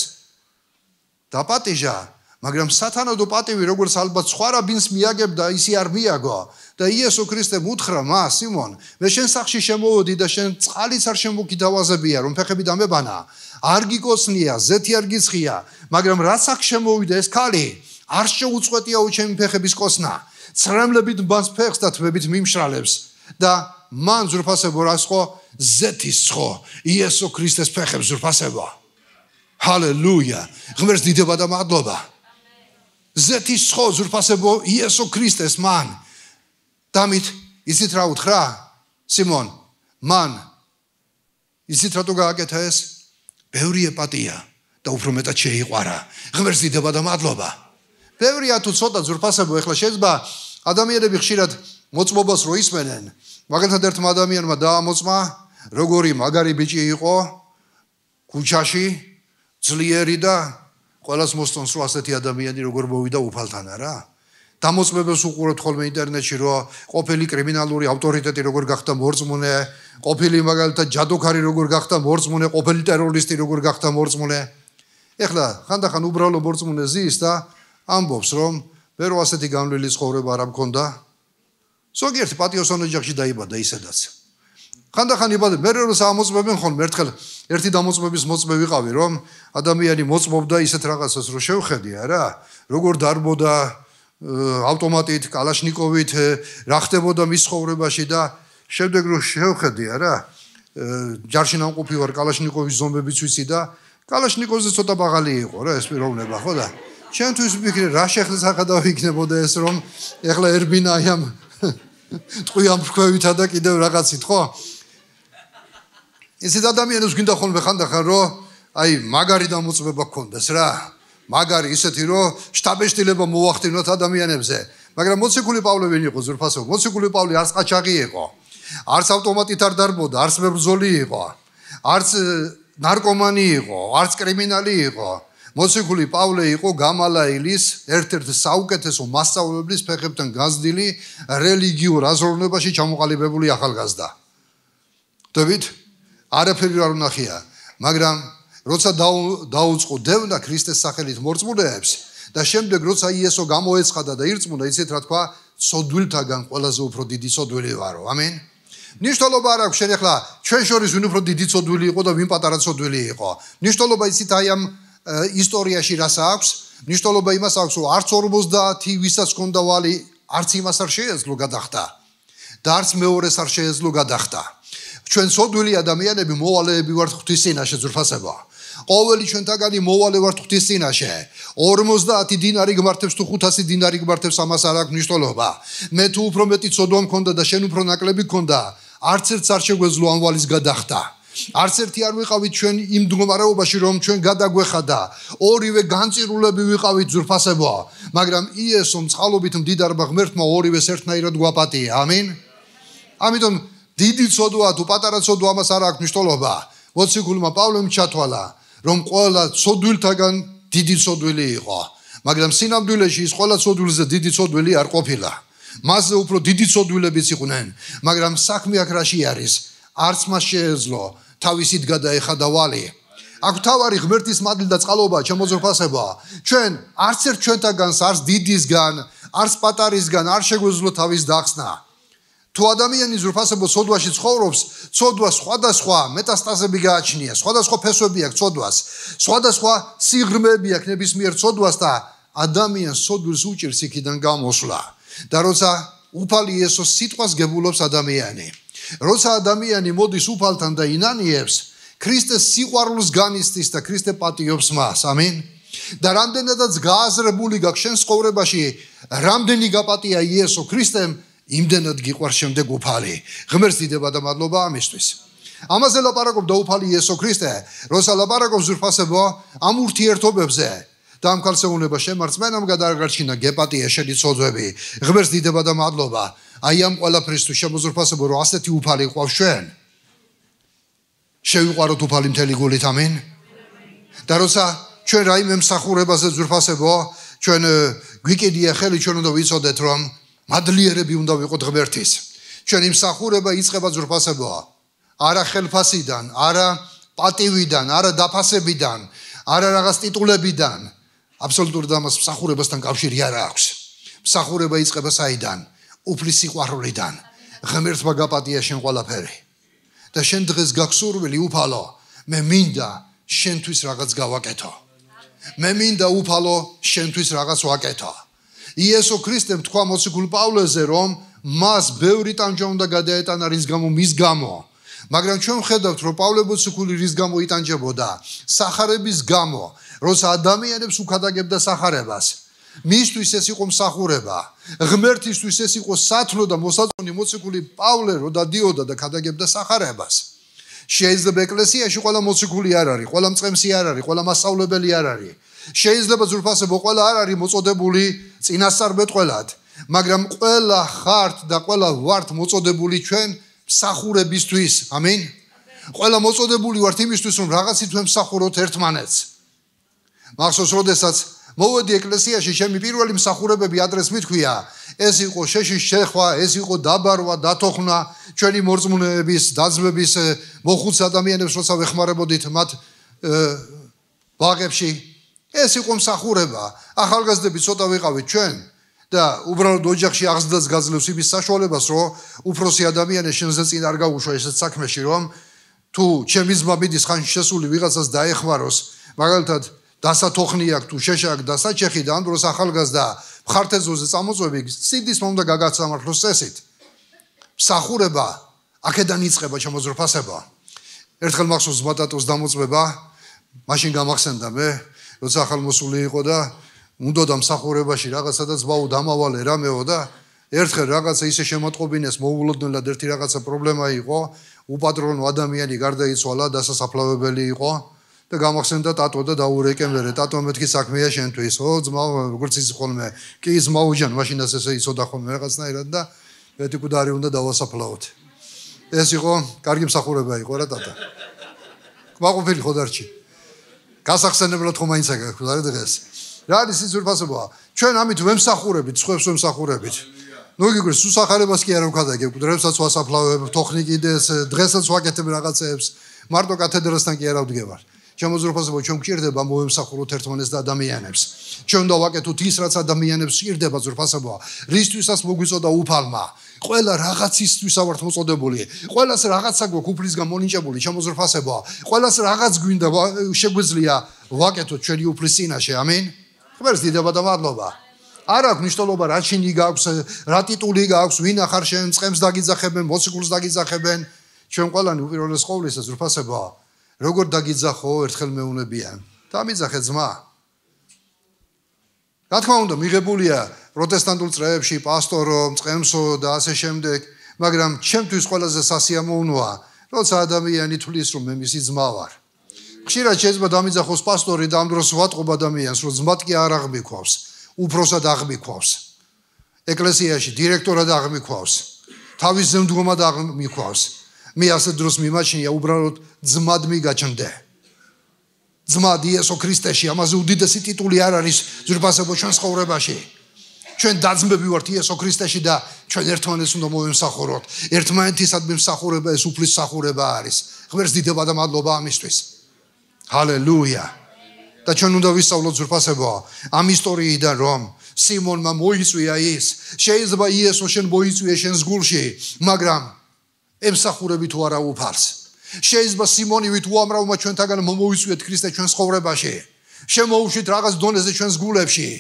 დაპატიჟა, მაგრამ სათანადო პატივი, როგორც ალბათ სხვა რაბინს მიაგებდა, ისი არ მიაგო. და იესო ქრისტემ უთხრა მას, სიმონ, მე შენ სახში შემოვედი და შენ წყალიც არ შემოგითავაზებია, რომ ფეხები დამებანა. არ გიკოცნია, ზეთი არ გიცხია, მაგრამ რაც აქ შემოვიდა ეს ქალი, არ შეუწყვეტიაო ჩემი ფეხების კოცნა. ცრემლებით ბანს ფეხს და თმებით მიმშრალებს და მან ზურფასებო რასხო ზეთის ცხო იესო ქრისტეს ფეხებს ზურფასებო. ჰალელუია. ღმერთს დიდება და მადლობა. ზეთის ცხო ზურფასებო იესო ქრისტეს მან. დამით იცით რა უთხრა? სიმონ, მან იცით რატო გააკეთა ეს? ბევრი ეპატია და უფრო მეტად შეიყვარა. ღმერთს დიდება და მადლობა. ბევრია თუ ცოტა ზურფასებო, ეხლა შეიძლება ადამიანები ხშირად მოწმობას რო ისმენენ. მაგალითად ერთმა ადამიანმა დაამოწმა, როგორი მაგარი ბიჭი იყო ქუჩაში, ძლიერი და ყველას მოსწონს რომ ასეთი ადამიანი როგორ მოვიდა უფალთან არა? დამოწმებებს უყურებთ ხოლმე ინტერნეტში, რომ ყოფილი კრიმინალური ავტორიტეტი როგორ გახდა მორწმუნე, ყოფილი მაგალითად ჯადოქარი როგორ გახდა მორწმუნე, ყოფილი ტერორისტი როგორ გახდა მორწმუნე. ეხლა ხანდახან უბრალო მორწმუნე ზის და ამბობს, რომ მე რო ასეთი განვლილი ცხოვრება არ მქონდა. ზოგიერთი პატიოსან ოჯახში დაიბადა ისედაც. ხანდახან იბადა, მე რო ამოწმებენ ხოლმე, ერთხელ ერთი დამოწმების მოწმე ვიყავი, რომ ადამიანი მოწმობდა ისეთ რაღაცას, რომ შევხედი არა, როგორ დარბოდა ავტომატით, კალაშნიკოვით, რა ხდებოდა მის ცხოვრებაში და შემდეგ რო შევხედი არა, ჯარში ნამყოფი ვარ, კალაშნიკოვის ზომებიც ვიცი და კალაშნიკოვზე ცოტა ბაღალი იყო რა ეს პიროვნება, ხო და ჩემთვის ვფიქრე რა შეხედა იქნებოდა ეს, რომ ეხლა ერბინა აი ამ ტყვიამ ფრქვევითა და კიდევ რაღაცით, ხო? ისეთ ადამიანებს გინდა ხოლმე ხანდახან, რომ აი მაგარი დამოწმება გქონდეს რა. მაგარი ისეთი, რომ შტაბეშტილება მოახდინოთ ადამიანებზე. მაგრამ მოციქული პავლე ვინ იყო ზურფასო? მოციქული პავლე არც ყაჩაღი იყო, არც ავტომატით არ დარბოდა, არც მებრძოლი იყო, არც ნარკომანი იყო, არც კრიმინალი იყო. მოციქული პავლე იყო გამალაილის ერთ-ერთი საუკეთესო მასწავლებლის ფეხებთან განძდილი რელიგიურ აზროვნებაში ჩამოყალიბებული ახალგაზრდა. დევით არაფერი არ უნახია, მაგრამ როცა დაუწყო დევნა ქრისტეს სახელით მორწმუნეებს და შემდეგ როცა იესო გამოეცხადა და ირწმუნა, იცით რა თქვა, სოდვილთაგან ყველაზე უფრო დიდი სოდვილი ვარო. ამინ. ნიშნულობა არ აქვს შენ ახლა ჩვენ შორის ვინ უფრო დიდი სოდვილი იყო და ვინ პატარა სოდვილი იყო. ნიშნულობა იცით აი ამ ისტორიაში რას აქვს? ნიშნულობა იმას აქვს, რომ არც 50 ვისაც ჰქონდა ვალი, არც იმას არ შეეძლო გადახდა და არც მეორეს არ შეეძლო გადახდა. ჩვენ სოდვილი ადამიანები მოვალეები ვართ ღვთის წინაშე ზურფასება. ყოველი ჩვენთაგანი მოვალე ვართ ღვთის წინაშე 50 დინარი გმართებს თუ 500 დინარი გმართებს ამას არ აქვს მნიშვნელობა მე თუ უფრო მეტი ცოდვა მქონდა და შენ უფრო ნაკლები გქონდა არც ერთს არ შეგვეძლო ამ ვალის გადახდა არც ერთი არ ვიყავით ჩვენ იმ მდგომარეობაში რომ ჩვენ გადაგვეხადა ორივე განწირულები ვიყავით ძვირფასებო მაგრამ იესომ წყალობით მდიდარმა ღმერთმა ორივეს ერთნაირად გვაპატია ამინ ამიტომ დიდი ცოდვა თუ პატარა ცოდვა ამას არ აქვს მნიშვნელობა მოციქულმა პავლემ ჩათვალა რომ ყველა ცოდვილთაგან დიდი ცოდვილი იყო მაგრამ სინამდვილეში ის ყველა ცოდვილზე დიდი ცოდვილი არ ყოფილა მასზე უფრო დიდი ცოდვილებიც იყვნენ მაგრამ საქმე აქ რაში არის არც მას შეეძლო თავისით გადაეხადა ვალი აქ თავარი ღმერთის მადლი და წყალობა შემოძრფასება ჩვენ არც ერთ ჩვენთაგანს არც დიდისგან არც პატარისგან არ შეგვეძლო თავის დახსნა თუ ადამიანი ზრფასებო ცოდვაში ცხოვრობს ცოდვა სხვადასხვა მეტასტაზები გააჩნია სხვადასხვა ფესვები აქვს ცოდვას სხვადასხვა სიღრმეები აქვს ნებისმიერ ცოდვას და ადამიანს ცოდვილს უჭირს იქიდან გამოსვლა და როცა უფალი იესოს სიტყვას გებულობს ადამიანი როცა ადამიანი მოდის უფალთან და ინანიებს ქრისტეს სიყვარულს განიცდის და ქრისტე პატიობს მას ამინ და რამდენადაც გააზრებული გაქვს შენ ცხოვრებაში რამდენი გაპატია იესო ქრისტემ იმდენად გიყვარს შემდეგ უფალი ღმერთს დიდება და მადლობა ამისთვის ამაზე ლაპარაკობდა უფალი იესო ქრისტე როცა ლაპარაკობს ზრფასებო ამ ურთიერთობებზე და ამ ქალწეუნება შემარწმენამ გადაარჩინა გეპატია შენი ცოდვები ღმერთს დიდება და მადლობა აი ამ ყველაფრისთვის შემოზრფასებო რომ ასეთი უფალი ყავს ჩვენ შევიყვაროთ უფალი მთელი გულით ამინ და როცა ჩვენ რაიმე მსახურებაზე ზრფასებო ჩვენ გვიკიდია ხელი ჩვენ უნდა ვიცოდეთ რომ მადლიერები უნდა ვიყოთ ღმერთის ჩვენი მსახურება იწყება ზრფასებო არა ხელფასიდან არა პატივიდან არა დაფასებიდან არა რაღაც ტიტულებიდან აბსოლუტურად ამას მსახურებასთან კავშირი არ აქვს მსახურება იწყება საიდან უფლის სიყვარულიდან ღმერთმა გაპატია შენ ყველაფერი და შენ დღეს გაგსურვილი უფალო მე მინდა შენთვის რაღაც გავაკეთო მე მინდა უფალო შენთვის რაღაც ვაკეთო იესო ქრისტემ თქვა მოციქულ პავლეზე რომ მას ბევრი ტანჯვა უნდა გადაეტანა რის გამო მის გამო მაგრამ ჩვენ ვხედავთ რომ პავლე მოციქული რის გამო იტანჯებოდა სახარების გამო როცა ადამიანებს უქადაგებდა სახარებას მისთვის ეს იყო მსახურება ღმერთისთვის ეს იყო სათნო და მოსაწონი მოციქული პავლე რო დადიოდა და ქადაგებდა სახარებას შეიძლება ეკლესიაში ყველა მოციქული არ არის ყველა მწყემსი არ არის ყველა მასწავლებელი არ არის შეიძლება ზრფასებო ყველა არ არის მოწოდებული წინასწარმეტყველად მაგრამ ყველა ხართ და ყველა ვართ მოწოდებული ჩვენ მსახურებისთვის ამინ ყველა მოწოდებული ვართ იმისთვის რომ რაღაცით ჩვენ მსახუროთ ერთმანეთს მახსოვს როდესაც მოვედი ეკლესიაში ჩემი პირველი მსახურებები ადრეს მithქვია ეს იყო შეშის შეხვა ეს იყო დაბარვა დათოხნა ჩვენი მორწმუნეების დაძმების მოხუც ადამიანებს როცა ვეხმარებოდით მათ ბაღებში ეს იყო მსახურება ახალგაზრდები ცოტა ვიყავით ჩვენ და უბრალოდ ოჯახში აღზრდას გაძლევს იმის საშუალებას რომ უფროსი ადამიანი შენზე წინ არ გაუშვა ესეთ საქმეში რომ თუ ჩემი ძმა მიდის ხანში შესული ვიღაცას დაეხმაროს მაგალითად დასათოხნი აქვს თუ შეშა აქვს დასაჩეხი და ამ დროს ახალგაზრდა მხართეზოზე წამოწვევი სიდის მომდა გაგაცამართლოს წესით მსახურება აქედან იწყება შემოზრფასება ერთხელ მახსოვს ბატატოს დამოწმება მაშინ გამახსენდა მე როცა ახალმოსული იყო და უნდოდა მსახურებაში რაღაცადაც ბაუ დამავალე რამეო და ერთხელ რაღაცა ისე შემოტყობინეს მოულოდნელად ერთი რაღაცა პრობლემა იყო უპატრონო ადამიანი გარდაიცვალა დასასაფლავებელი იყო და გამახსენდა ტატო და დაურეკემერე ტატო მეთქი საქმეა შენთვის ო ძმა როგორც ის ხოლმე კი ძმაუჯან მაშინაც ესე იცოდა ხოლმე რაღაცნაირად და მეთქი კუდარი უნდა დავასაფლავოთ ეს იყო კარგი მსახურება იყო რა ტატა კმაყოფილი ხო დარჩი გასახსენებლად ხომ მაინც აქვს რა დღეს რა არის ის ზურფასობა ჩვენ ამით ვემსახურებით სხვებს ვემსახურებით ნუ გიგრს სუსახარებას კი არ ვქადაგებ კუდრებსაც ვასაფლავებ თოხნი კიდეს დღესაც ვაკეთებ რაღაცებს მარტო კათედრასთან კი არ ავდგებარ შემოზრფასება ჩვენ გვჭირდება მოვემსახუროთ ერთმანეთს და ადამიანებს ჩვენ უნდა ვაკეთოთ ის რაც ადამიანებს ჭირდება ზურფასება რისთვისაც მოგვიწოდა უფალმა ყველა რაღაცისთვის ავართ მოწოდებული ყველას რაღაცა გვაქვს უფლისგან მონიჭებული შემოზრფასება ყველას რაღაც გვინდა შეგვიძლია ვაკეთოთ ჩვენი უფლის წინაშე ამინ ღმერთს დიდება და მადლობა არ აქვს მნიშვნელობა რა ჩინი გაქვს რა ტიტული გაქვს ვინ ახარ შენ წყემს დაგიძახებენ მოციქულს დაგიძახებენ ჩვენ ყველანი უპირველეს ყოვლისა ზრფასება როგორ დაგიძახო ერთხელ მეუნებიან. დამიძახე ძმა. რა თქმა უნდა, მიღებულია პროტესტანტულ წრეებში პასტორო, მწყემსო და ასე შემდეგ, მაგრამ ჩემთვის ყველაზე სასიამოვნოა, როცა ადამიანი თulis რომ მე მისი ძმა ვარ. ხშირად შეიძლება დამიძახოს პასტორი და ამ დროს ვატყობ ადამიანს, რომ ძმად კი არ აღმიქვავს, უფროსად აღმიქვავს. ეკლესიაში დირექტორად აღმიქვავს, თავის ზემდგომად აღმიქვავს. მე ასეთ დროს მიმაჩნია უბრალოდ ძმად მიგაჩნდე. ძმად იესო ქრისტეში, ამაზე უდიდესი ტიტული არ არის ძვირფასებო ჩვენ ცხოვრებაში. ჩვენ დაძმები ვართ იესო ქრისტეში და ჩვენ ერთმანეთს უნდა მოვემსახუროთ. ერთმანეთისადმი მსახურება ეს უფლის მსახურება არის. ღმერთს დიდება და მადლობა ამისთვის. ჰალელუია. და ჩვენ უნდა ვისწავლოთ ძვირფასებო ამ ისტორიიდან რომ სიმონმა მოიწვია ის, შეიძლება იესო შენ მოიწვიე შენს გულში, მაგრამ ემსახურები თუ არა უფალს. შეიძლება სიმონივით უამრავმა ჩვენთაგან მომოიწვიეთ ქრისტე ჩვენს ცხოვრებაში. შემოუშვით რაღაც დონეზე ჩვენს გულებში.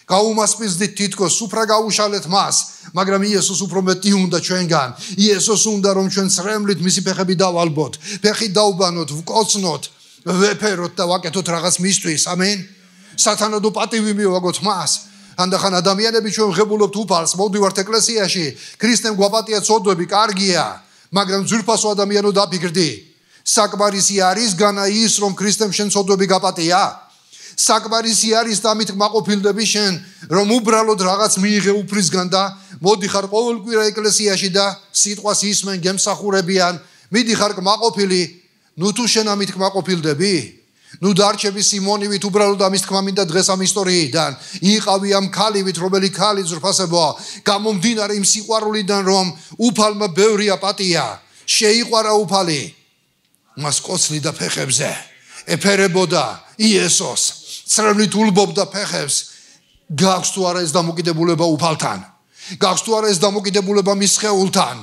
გაუმასპინძლით თითქოს სუფრა გაუშალეთ მას, მაგრამ იესოს უფრო მეტი უნდა ჩვენგან. იესოს უნდა რომ ჩვენ წრემლით მისი ფეხები დავალბოთ, ფეხი დავბანოთ, ვკოცნოთ, ვეფეროთ და ვაკეთოთ რაღაც მისთვის. ამენ. სათანადო პატივი მივაგოთ მას. ანდახან ადამიანები ჩვენ ღებულობთ უფალს, მოვდივართ ეკლესიაში, ქრისტემ გვაპატია ცოდვები, კარგია, მაგრამ ძვირფასო ადამიანო დაფიქრდი. საკმარისი არის განა ის რომ ქრისტემ შენ ცოდვები გაპატია? საკმარისი არის დამით მაყოფილდები შენ რომ უბრალოდ რაღაც მიიღე უფლისგან და მოდიხარ ყოველკვირა ეკლესიაში და სიტყვას ისმენ გემსახურებიან, მიდიხარ კმაყოფილი, ნუ თუ შენ ამით კმაყოფილდები? ნუ დარჩები სიმონივით უბრალოდ ამის თქმა მინდა დღეს ამ ისტორიიდან იყავი ამ ქალივით, რომელი ქალი ძვირფასებოა, გამომდინარე იმ სიყვარულიდან რომ უფალმა ბევრია პატია, შეიყვარა უფალი, მას კოცნიდა ფეხებზე, ეფერებოდა იესოს, წრემლით ულბობდა ფეხებს. გაქვს თუ არა ეს დამოკიდებულება უფალთან? გაქვს თუ არა ეს დამოკიდებულება მის სხეულთან?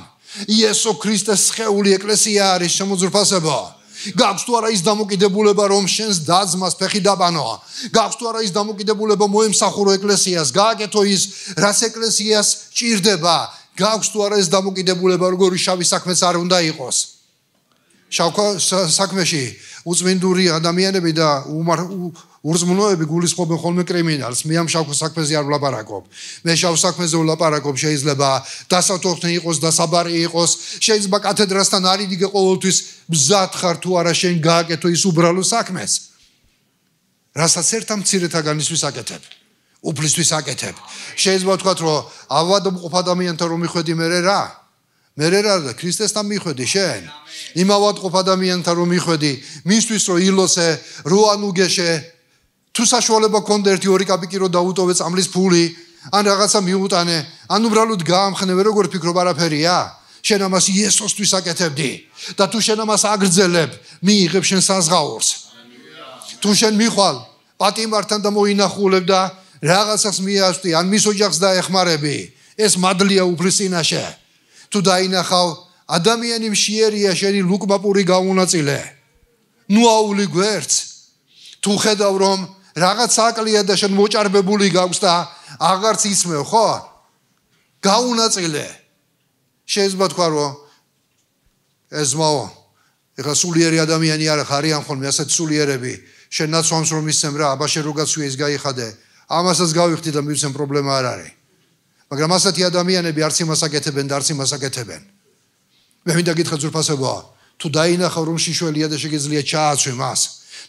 იესო ქრისტეს სხეული ეკლესია არის შემოძვირფასებო. გაქვს თუ არა ის დამოკიდებულება რომ შენს დაძმას ფეხი დაბანო? გაქვს თუ არა ის დამოკიდებულება მოემსახურო ეკლესიას, გააკეთო ის რაც ეკლესიას ჭირდება? გაქვს თუ არა ეს დამოკიდებულება როგორი შავი საქმეც არ უნდა იყოს? შავ საქმეში უწმინდური ადამიანები და ურწმუნოები გულისხმობენ ხოლმე კრიმინალს. მე ამ შავ საქმეზე არ ვლაპარაკობ. მე შავ საქმეზე ვლაპარაკობ, შეიძლება დასათოხნი იყოს, დასაბარი იყოს, შეიძლება კათედრასთან არიდიგე ყოველთვის მზად ხარ თუ არა შენ გააკეთო ის უბრალო საქმეს. რასაც ერთ ამ მცირეთაგანისთვის აკეთებ, უფლისთვის აკეთებ. შეიძლება ვთქვათ, რომ ავადმყოფ ადამიანთან რომ მიხვედი მერე რა? მერე რა და ქრისტესთან მიხვედი შენ? იმ ავადმყოფ ადამიანთან რომ მიხვედი, მისთვის რომ ილოსე, რო ანუგეშე, თუ საშუალება გქონდა 1-2 კაპიკი რო დაუტოვე წამლის ფული, ან რაღაცა მიუტანე, ან უბრალოდ გაამხნევე, როგორ ფიქრობ არაფერია? შენ ამას იესოსთვის აკეთებდი და თუ შენ ამას აგრძელებ, მიიღებ შენ საზღაურს. თუ შენ მიხვალ პატიმართან და მოინახულებ და რაღაცას მიასვი, ან მის ოჯახს დაეხმარები, ეს მადლია უფლის წინაშე. თუ დაინახავ ადამიანი მშიერია შენი ლუკმაპური გაუნაწილე, ნუ აული გვერდს. თუ ხედავ რომ რაღაც აკლია და შენ მოჭარბებული გაქვს და აღარც იცმევ, ხო? გაუნაწილე. შეიძლება თქვა რომ ეს მაო, ეხლა სულიერი ადამიანი არ ხარიან ხოლმე ასეთ სულიერები, შენ ნაცვამს რომ ისცემ რა, აბა შენ რო გაცვია ის გაიხადე, ამასაც გავიხდი და მივცემ პრობლემა არ არის. მაგრამ ასეთი ადამიანები არც იმას აკეთებენ და არც იმას აკეთებენ. მე მინდა გითხრა ძვირფასებო, თუ დაინახავ რომ შიშველია და შეგიძლია ჩააცვი მას,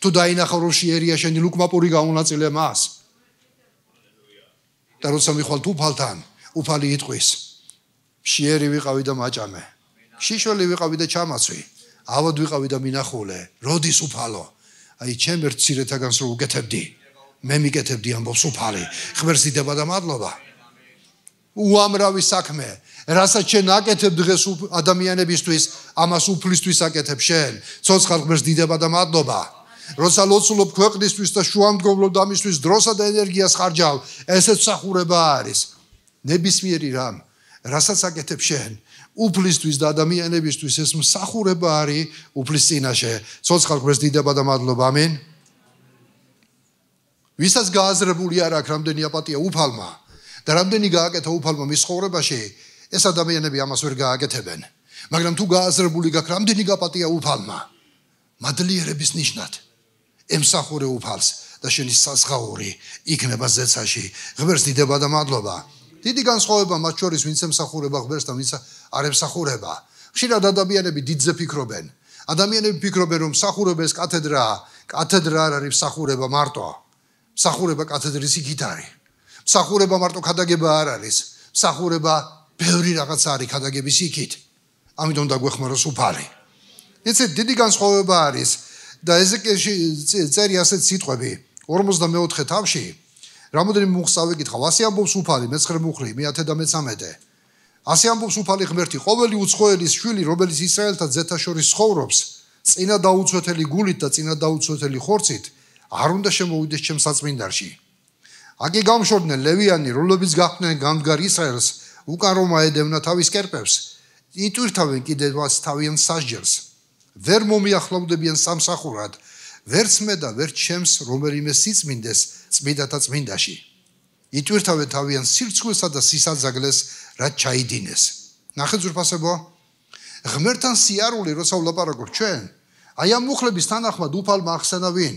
თუ დაინახავ რომ შიერია შენი ლუკმაპური გაუნაწილე მას. და როცა მიხვალ უფალთან, უფალი იტყვის, შიერი ვიყავი და მაჭამე, შიშველი ვიყავი და ჩამაცვი, ავად ვიყავი და მინახულე, როდის უფალო? აი ჩემ ერთ მცირეთაგანს რო უკეთებდი, მე მიკეთებდი ამბობს უფალი, ღმერთს დიდება და მადლობა. უამრავი საქმე, რასაც შენ აკეთებ დღეს ადამიანებისთვის, ამას უფლისთვის აკეთებ შენ. ცოცხალ ღმერთს დიდება და მადლობა. როცა ლოცულობ ქვეყნისთვის და შუამდგომლობ ამისთვის დროსა და ენერგიას ხარჯავ, ესეც მსახურება არის. ნებისმიერი რამ, რასაც აკეთებ შენ, უფლისთვის და ადამიანებისთვის ეს მსახურება არის უფლის წინაშე. ცოცხალ ღმერთს დიდება და მადლობა. ამენ. ვისაც გააზრებული არ აქვს რამდენი აპატია უფალმა და რამდენი გააკეთა უფალმა მის ცხოვრებაში, ეს ადამიანები ამას ვერ გააკეთებენ. მაგრამ თუ გააზრებული გაქვს რამდენი გაპატია უფალმა, მადლიერების ნიშნად ემსახურე უფალს და შენი საზღაური იქნება ზეცაში ღმერთს დიდება და მადლობა დიდი განსხვავება მათ შორის ვინც ემსახურება ღმერთს და ვინც არ ემსახურება ხშირად ადამიანები დიდზე ფიქრობენ ადამიანები ფიქრობენ რომ მსახურება ეს კათედრაა კათედრა არ არის მსახურება მარტო მსახურება კათედრის იქით არის მსახურება მარტო ქადაგება არ არის მსახურება ბევრი რაღაც არის ქადაგების იქით ამიტომ დაგვეხმაროს უფალი იცით დიდი განსხვავება არის და ეზეკიელში წერი ასეთ სიტყვები 44 თავში რამოდენიმე მუხსავე გითხავ ასე ამბობს უფალი მე-9 მუხლი მე-13 ასე ამბობს უფალი ღმერთი ყოველი უცხოელის შვილი რომელიც ისრაელთა ძეთა შორის ცხოვრობს წინა დაუცვეთელი გულით და წინა დაუცვეთელი ხორცით არ უნდა შემოვიდეს ჩემს საწმინდარში აკი გამშორდნენ ლევიანი რომლებიც გახდნენ გამდგარ ისრაელს უკან რომა ედევნა თავის კერპებს იტვირთავენ კიდევაც თავიანთ სასჯელს ვერ მომიახლოვდებიან სამსახურად ვერც მე და ვერც ჩემს რომელიმე სიწმინდეს წმინდათა წმინდაში იტვირთავენ თავიანთ სირცხვესა და სისაძაგლეს რაც ჩაიდინეს ნახეთ ზურფასებო ღმერთთან სიარული როცა ვლაპარაკობ ჩვენ აი ამ მუხლების თანახმად უფალმა ახსენა ვინ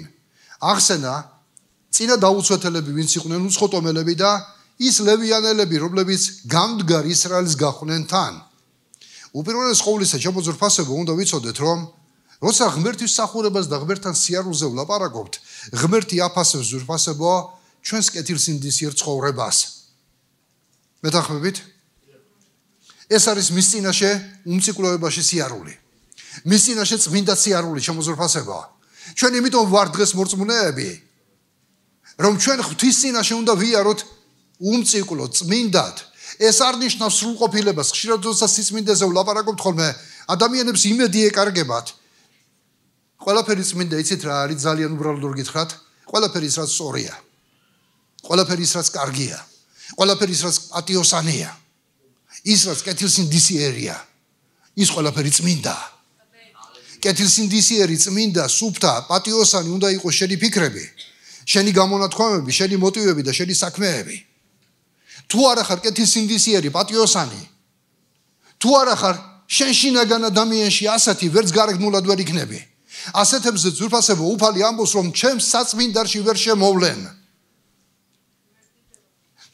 ახსენა წინა დაუცვეთელები ვინც იყვნენ უცხოტომელები და ის ლევიანელები რომლებიც გამდგარ ისრაელს გახვნენ თან უპირველეს ყოვლისა ჩემო ზურფასებო უნდა ვიცოდეთ რომ როცა ღმერთის მსახურებას და ღმერთთან სიარულზე ვლაპარაკობთ ღმერთი აფასებს ზურფასებო ჩვენს კეთილსინდისიერ ცხოვრებას მეთანხმებით ეს არის მის წინაშე უმწიკვლევებაში სიარული მის წინაშე წმინდა სიარული ჩემო ზურფასებო ჩვენ იმიტომ ვარ დღეს მორწმუნეები რომ ჩვენ ღვთის წინაშე უნდა ვიაროთ უმწიკლო წმინდად ეს არ ნიშნავს სრულყოფილებას ხშირად როცა სიწმინდეზე ვლაპარაკობთ ხოლმე ადამიანებს იმედი ეკარგებათ ყველაფერი წმინდა იცით რა არის ძალიან უბრალოდ რო გითხრათ ყველაფერი ის რაც სწორია ყველაფერი ის რაც კარგია ყველაფერი ის რაც პატიოსანია ის რაც კეთილსინდისიერია ის ყველაფერი წმინდა კეთილსინდისიერი წმინდა სუფთა პატიოსანი უნდა იყოს შენი ფიქრები შენი გამონათქვამები შენი მოტივები და შენი საქმეები თუ არა ხარ კეთილსინდისიერი პატიოსანი თუ არა ხარ შენ შინაგან ადამიანში ასეთი ვერც გარეგნულად ვერ იქნები ასეთებზე ზურფასებო უფალი ამბობს რომ ჩემს საწმინდარში ვერ შემოვლენ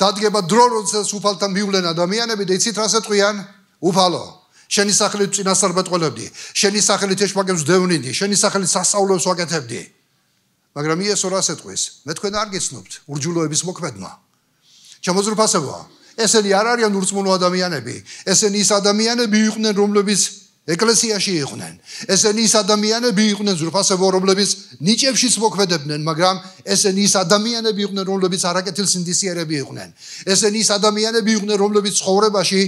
დადგება დრო როდესაც უფალთან მივლენ ადამიანები და იცით რას ეტყვიან უფალო შენი სახელით წინასწარ მეტყოლებდი შენი სახელით ეშმაკებს ვდევნიდი შენი სახელით სასწაულებს ვაკეთებდი მაგრამ იესო რას ეტყვის მე თქვენ არ გიცნობთ ურჯულოების მოქმედმა ჩემო ზურფასებო ესენი არ არიან ურწმუნო ადამიანები ესენი ის ადამიანები იყვნენ რომლებიც ეკლესიაში იყვნენ ესენი ის ადამიანები იყვნენ ზურფასებო რომლებიც ნიჭებშიც მოქმედებდნენ მაგრამ ესენი ის ადამიანები იყვნენ რომლებიც არაკეთილსინდისიერები იყვნენ ესენი ის ადამიანები იყვნენ რომლებიც ცხოვრებაში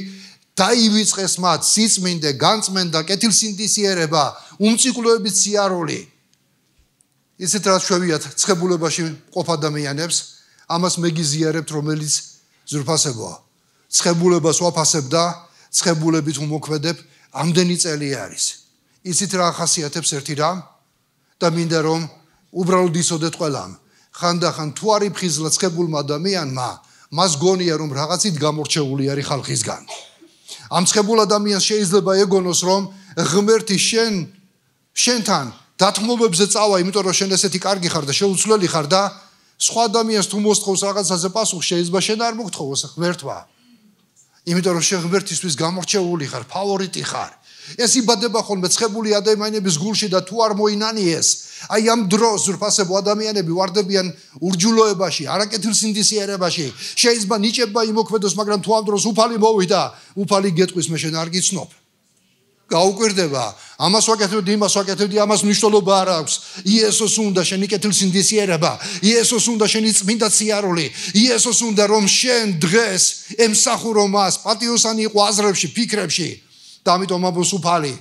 დაივიწყეს მათ სიწმინდე განწმენდა კეთილსინდისიერება უმწიკლოებით სიარული ისეთ რაც შევიათ ცხებულებაში ყოფ ადამიანებს ამას მეგიზიარებთ რომელიც ზურფასებო ცხებულებას ვაფასებ და ცხებულებით უმოქმედებ ამდენი წელი არის ისეთ რა ახასიათებს ერთი რამ და მინდა რომ უბრალოდ იცოდეთ ყველამ ხანდახან თუ არის ფხიზლა ცხებულმა ადამიანმა მას გონია რომ რაღაცით გამორჩეული არის ხალხისგან ამ ცხებულ ადამიანს შეიძლება ეგონოს რომ ღმერთი შენთან დათმობებზე წავა იმიტომ რომ შენ ესეთი კარგი ხარ და შეუცვლელი ხარ და სხვა ადამიანს თუ მოსთხოვს რაღაცაზე პასუხს შეიძლება შენ არ მოგთხოვოს ღმერთმა იმიტომ რომ შენ ღმერთისთვის გამორჩეული ხარ ფავორიტი ხარ ეს იბადება ხოლმე ცხებული ადამიანების გულში და თუ არ მოინანიეს აი ამ დროს ზურფასებო ადამიანები ვარდებიან ურჯულოებაში არაკეთილსინდისიერებაში შეიძლება ნიჭება იმოქმედოს მაგრამ თუ ამ დროს უფალი მოვიდა უფალი გეტყვის მე შენ არ გიცნობ გაუკვირდება ამას ვაკეთებდი იმას ვაკეთებდი ამას მნიშვნელობა არ აქვს იესოს უნდა შენი კეთილსინდისიერება იესოს უნდა შენი წმინდა სიარული იესოს უნდა რომ შენ დღეს ემსახურო მას პატიოსანი იყო აზრებში ფიქრებში და ამიტომ ამბობს უფალი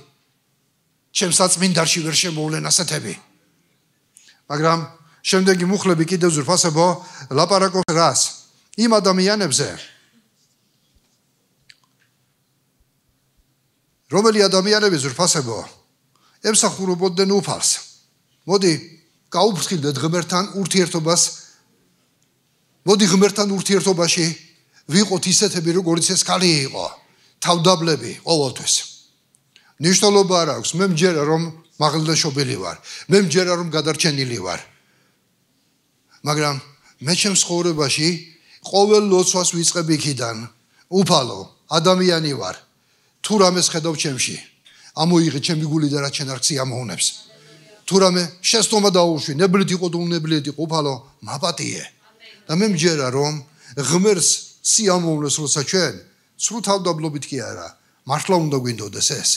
ჩემს საწმინდარში ვერ შემოვლენ ასეთები მაგრამ შემდეგი მუხლები კიდევ ზურფასებო ლაპარაკობს რას იმ ადამიანებზე რომელი ადამიანები ზურფასებო ემსახურებოდნენ უფალს მოდი გაუფრთხილდეთ ღმერთთან ურთიერთობას მოდი ღმერთთან ურთიერთობაში ვიყოთ ისეთები როგორიც ეს ქალი იყო თავდაბლები ყოველთვის ნიშნულობა არ აქვს მე მჯერა რომ მაღლიდან შობილი ვარ. მე მჯერა რომ გადარჩენილი ვარ. მაგრამ მე ჩემს ცხოვრებაში ყოველ ლოცვას ვიწყებ იქიდან. უფალო, ადამიანი ვარ. თუ რამეს ხედავ ჩემში, ამოიღე ჩემი გული და რაც შენ არ გსიამოვნებს. თუ რამე შეცდომა დაუშვი, ნებლით იყო თუ უნებლით იყო, უფალო, მაპატიე. და მე მჯერა რომ ღმერთს სიამოვნებს როცა ჩვენ სრულ თავდაბლობით კი არა, მართლა უნდა გვინდოდეს ეს.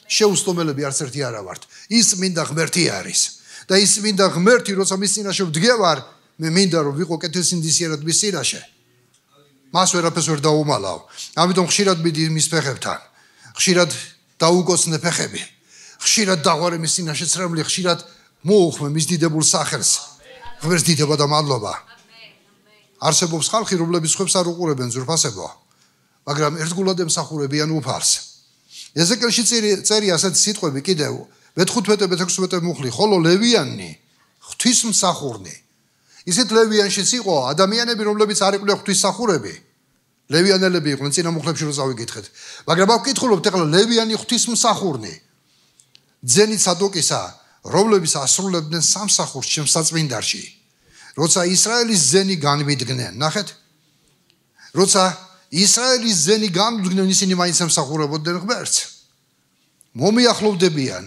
შეუსტომელები არც ერთი არა ვართ. ის მინდა ღმერთი არის. და ის მინდა ღმერთი, როცა მის წინაშე ვდგევარ, მე მინდა რომ ვიყო კეთილსინდისიერად მის წინაშე. მას ვერაფერს ვერ დაუმალავ. ამიტომ ხშირად მიდი მის ფეხებთან. ხშირად დაუკოცნე ფეხები. ხშირად დაღვარე მის წინაშე ცრემლი, ხშირად მოუხმე მის დიდებულ სახელს. ღმერთს დიდება და მადლობა. არსებობს ხალხი, რომლებიც ხვებს არ უყურებენ ძვირფასებო, მაგრამ ერთგულად ემსახურებიან უფალს. ეზეკელში წერია ასეთი სიტყვები კიდევ მე-15-მე-16 მუხლი, ხოლო ლევიანი ღვთისმსახურნი. ისეთ ლევიანშიც იყო ადამიანები, რომლებიც არ იყვნენ ღვთისმსახურები. ლევიანელები იყვნენ წინა მუხლებში რო წავიკითხეთ. მაგრამ აქ ვკითხულობთ ახლა ლევიანი ღვთისმსახურნი. ძენი სადოკისა, რომლებიც ასრულებდნენ სამსახურს ჩემს საწმინდარში. როცა ისრაელის ძენი განვიდგნენ, ნახეთ? როცა ისრაელის ძენი განვიდგნენ, ისინი მაინც ემსახურებოდნენ ღმერთს. მომიახლოვდებიან,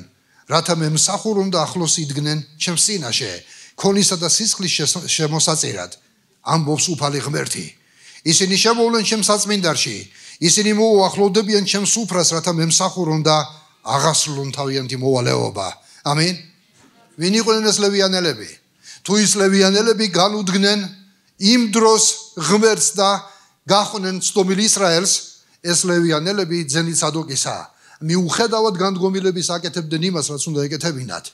რათა მე მსახურონ და ახლოს იდგნენ ჩემს წინაშე, ქონისა და სისხლის შემოსაწირად, ამბობს უფალი ღმერთი. ისინი შემოვლენ ჩემს საწმინდარში, ისინი მოუახლოვდებიან ჩემს უფრას, რათა მე მსახურონ და აღასრულონ თავიანთი მოვალეობა. ამინ. ვინ იყვნენ ეს ლევიანელები? თუ ის ლევიანელები განუდგნენ იმ დროს ღმერთს და გახდნენ ცდომილ ისრაელს, ეს ლევიანელები ძენი სადოკისა მიუხედავად განდგომილების აკეთებდნენ იმას, რაც უნდა ეკეთებინათ.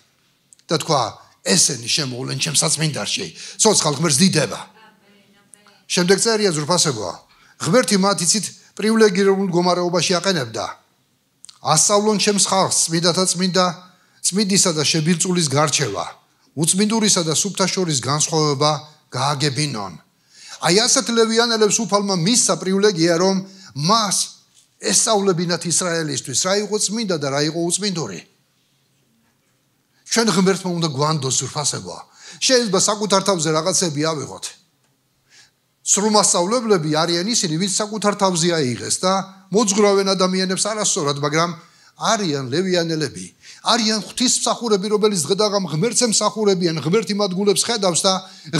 და თქვა, ესენი შემოვლენ ჩემს საწმინდარში, ცოცხალ ღმერთს დიდება. შემდეგ წერია ძვირფასებო, ღმერთი მათ იცით პრივილეგირებულ მდგომარეობაში აყენებდა. ასწავლონ ჩემს ხალხს წმინდათა წმინდა, წმინდისა და შებილწულის გარჩევა, უწმინდურისა და სუფთა შორის განსხვავება გააგებინონ. აი ასეთ ლევიანელებს უფალმა მისცა პრივილეგია, რომ მას ესწავლებინათ ისრაელისთვის, რა იყო წმინდა და რა იყო უწმინდური. ჩვენ ღმერთმა უნდა გვანდოს ძვირფასებო. შეიძლება საკუთარ თავზე რაღაცები ავიღოთ. სრულმასწავლებლები არიან ისინი, ვინც საკუთარ თავზე აიღეს და მოძღვრავენ ადამიანებს არასწორად, მაგრამ არიან ლევიანელები, არიან ღვთისმსახურები, რომელიც დღედაღამ ღმერთს ემსახურებიან, ღმერთი მათ გულებს ხედავს და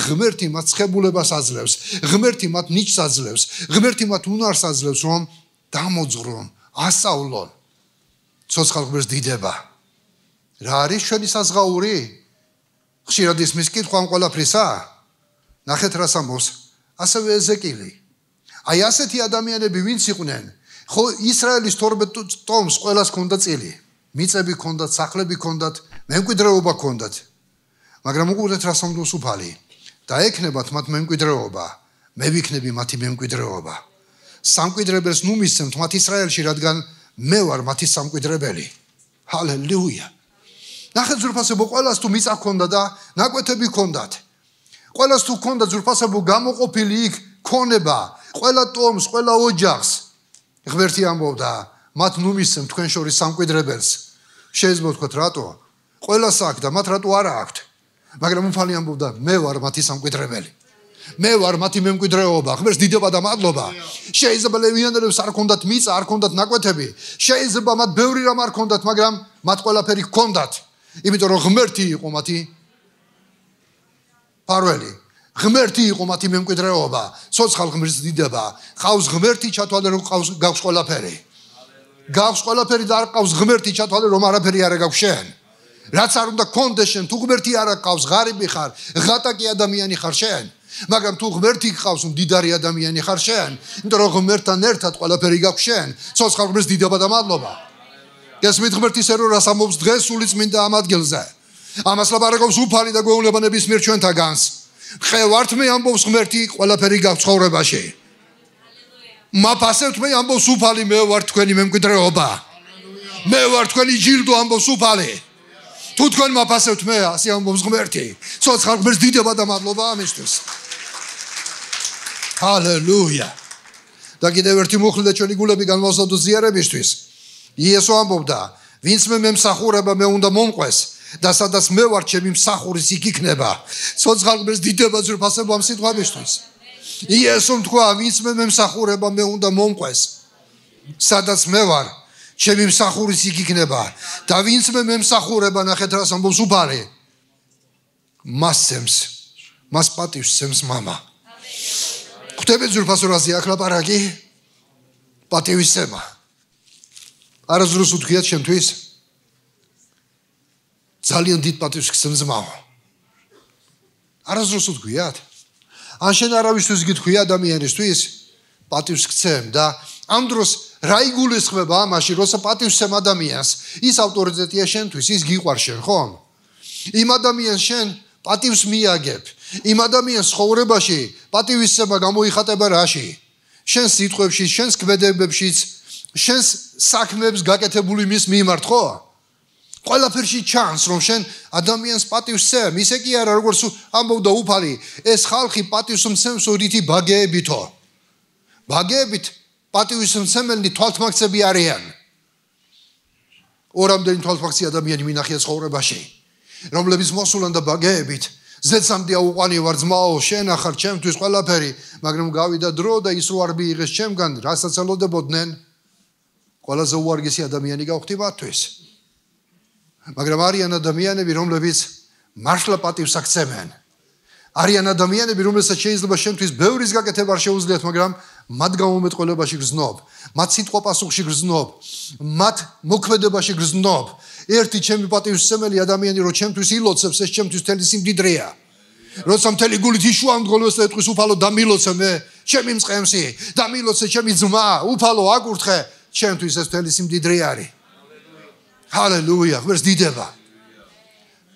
ღმერთი მათ ცხებულებას აძლევს, ღმერთი მათ ნიჭს აძლევს, ღმერთი მათ უნარს აძლევს, რომ დამოძღვრონ, ასწავლონ. ცოცხალ ღმერთს დიდება. რა არის ჩვენი საზღაური? ხშირად ისმის კითხვა ამ ყველაფრისა? ნახეთ რას ამბობს ასევე ეზეკილი. აი ასეთი ადამიანები ვინც იყვნენ, ხო ისრაელის 12 ტომს ყველას ჰქონდა წილი. მიწები ჰქონდათ, სახლები ჰქონდათ, მემკვიდრეობა ჰქონდათ. მაგრამ უყურეთ რას ამბობს უფალი. დაექნებათ მათ მემკვიდრეობა, მე ვიქნები მათი მემკვიდრეობა. სამკვიდრებელს ნუ მისცემთ მათ ისრაელში, რადგან მე ვარ მათი სამკვიდრებელი. ჰალელუია. ნახეთ ძვირფასებო, ყველას თუ მიწა ჰქონდა და ნაკვეთები ჰქონდათ. ყველას თუ ჰქონდა ძვირფასებო გამოყოფილი იქ ქონება, ყველა ტომს, ყველა ოჯახს. ღმერთი ამბობდა, მათ ნუ მისცემ თქვენ შორის სამკვიდრებელს. შეიძლება ვთქვათ რატო? ყველას აქვს და მათ რატო არა აქვთ? მაგრამ უფალი ამბობდა, მე ვარ მათი სამკვიდრებელი. მე ვარ მათი მემკვიდრეობა. ღმერთს დიდება და მადლობა. შეიძლება ლევიანელებს არ ჰქონდათ მიწა, არ ჰქონდათ ნაკვეთები. შეიძლება მათ ბევრი რამ არ ჰქონდათ, მაგრამ მათ ყველაფერი ჰქონდათ. იმიტომ რომ ღმერთი იყო მათი ფარველი. ღმერთი იყო მათი მემკვიდრეობა. ცოცხალ ღმერთს დიდება. ყავს ღმერთი, ჩათვალე რომ გაქვს ყველაფერი. გაქვს ყველაფერი და არ ყავს ღმერთი, ჩათვალე რომ არაფერი არ გაქვს შენ. რაც არ უნდა გქონდეს შენ, თუ ღმერთი არ ყავს, ღარიბი ხარ, ღატაკი ადამიანი ხარ შენ. მაგრამ თუ ღმერთი გყავს, მდიდარი ადამიანი ხარ შენ. იმიტომ რომ ღმერთთან ერთად ყველაფერი გაქვს შენ. ცოცხალ ღმერთს დიდება და მადლობა. გესმით ღმერთის ერო რას ამბობს დღეს სული წმინდა ამ ადგილზე. ამას ლაპარაკობს უფალი და გვეუბნება ნებისმიერ ჩვენთაგანს. ხევართ მე ამბობს ღმერთი, ყველაფერი გაქვს ცხოვრებაში. მაფასებთ მე ამბობს უფალი, მე ვარ თქვენი მემკვიდრეობა. მე ვარ თქვენი ჯილდო ამბობს უფალი. თუ თქვენ მაფასებთ მე, ასე ამბობს ღმერთი. ცოცხალ ღმერთს დიდება და მადლობა ამისთვის. ჰალელუია. და კიდევ ერთი მუხლი და ჩვენი გულები განვასწავლოთ ზიარებისთვის. იესო ამბობდა, ვინც მე მემსახურება მე უნდა მომყვეს და სადაც მე ვარ ჩემი მსახურის იქ იქნება. ცოცხალებს დიდება ძვირფასება ამ სიტყვებისთვის. იესომ თქვა ვინც მე მემსახურება მე უნდა მომყვეს სადაც მე ვარ ჩემი მსახურის იქ იქნება და ვინც მე მემსახურება ნახეთ რას ამბობს უფალი მას სემს მას პატივს სემს მამა. ხვდებით ძვირფასურაზე აქ ლაპარაკი პატივის სემა. არასდროს უთქვიათ შემთვის ძალიან დიდ პატივს გსემს მამა. არასდროს უთქვიათ ან შენ არავისთვის გითქვი ადამიანისთვის პატივს გცემ და ამ დროს რა იგულისხმება ამაში როცა პატივს სემ ადამიანს ის ავტორიტეტია შენთვის ის გიყვარს შენ ხომ? იმ ადამიანს შენ პატივს მიაგებ იმ ადამიანს ცხოვრებაში პატივის სემა გამოიხატება რაში? შენ სიტყვებში შენს ქმედებებშიც შენს საქმეებს გაკეთებული მის მიმართ ხო? ყველაფერში ჩანს რომ შენ ადამიანს პატივს სემ ისე კი არა როგორც ამბობდა უფალი ეს ხალხი პატივს მსემს რითი ბაგეებითო ბაგეებით პატივის მსმენელი თვალთმაქცები არიან. ორამდენი თვალთმაქცი ადამიანი მინახია ცხოვრებაში რომლებიც მოსულან და ბაგეებით ზეცამდე აუყვანი ვარ ძმაო შენ ახარ ჩემთვის ყველაფერი მაგრამ გავიდა დრო და ის რო არ მიიღეს ჩემგან რასაც ელოდებოდნენ ყველაზე უარგესი ადამიანი გავხდი მათთვის. მაგრამ არიან ადამიანები რომლებიც მართლა პატივს აქცევენ. არიან ადამიანები რომელსაც შეიძლება შენთვის ბევრის გაკეთება არ შეუძლიათ მაგრამ მათ გამომეტყველებაში გრძნობ მათ სიტყვა პასუხში გრძნობ მათ მოქმედებაში გრძნობ. ერთი ჩემი პატივსმენელი ადამიანი რო ჩემთვის ილოცებს ეს ჩემთვის თელი სიმდიდრეა. როცა მთელი გულით იშუამდგოლოს და ეთქვის უფალო დამილოცე მე ჩემი მწყემსი დამილოცე ჩემი ძმა უფალო აკურთხე ჩემთვის ეს თელი სიმდიდრე არის. ჰალელუია ღმერთს დიდება.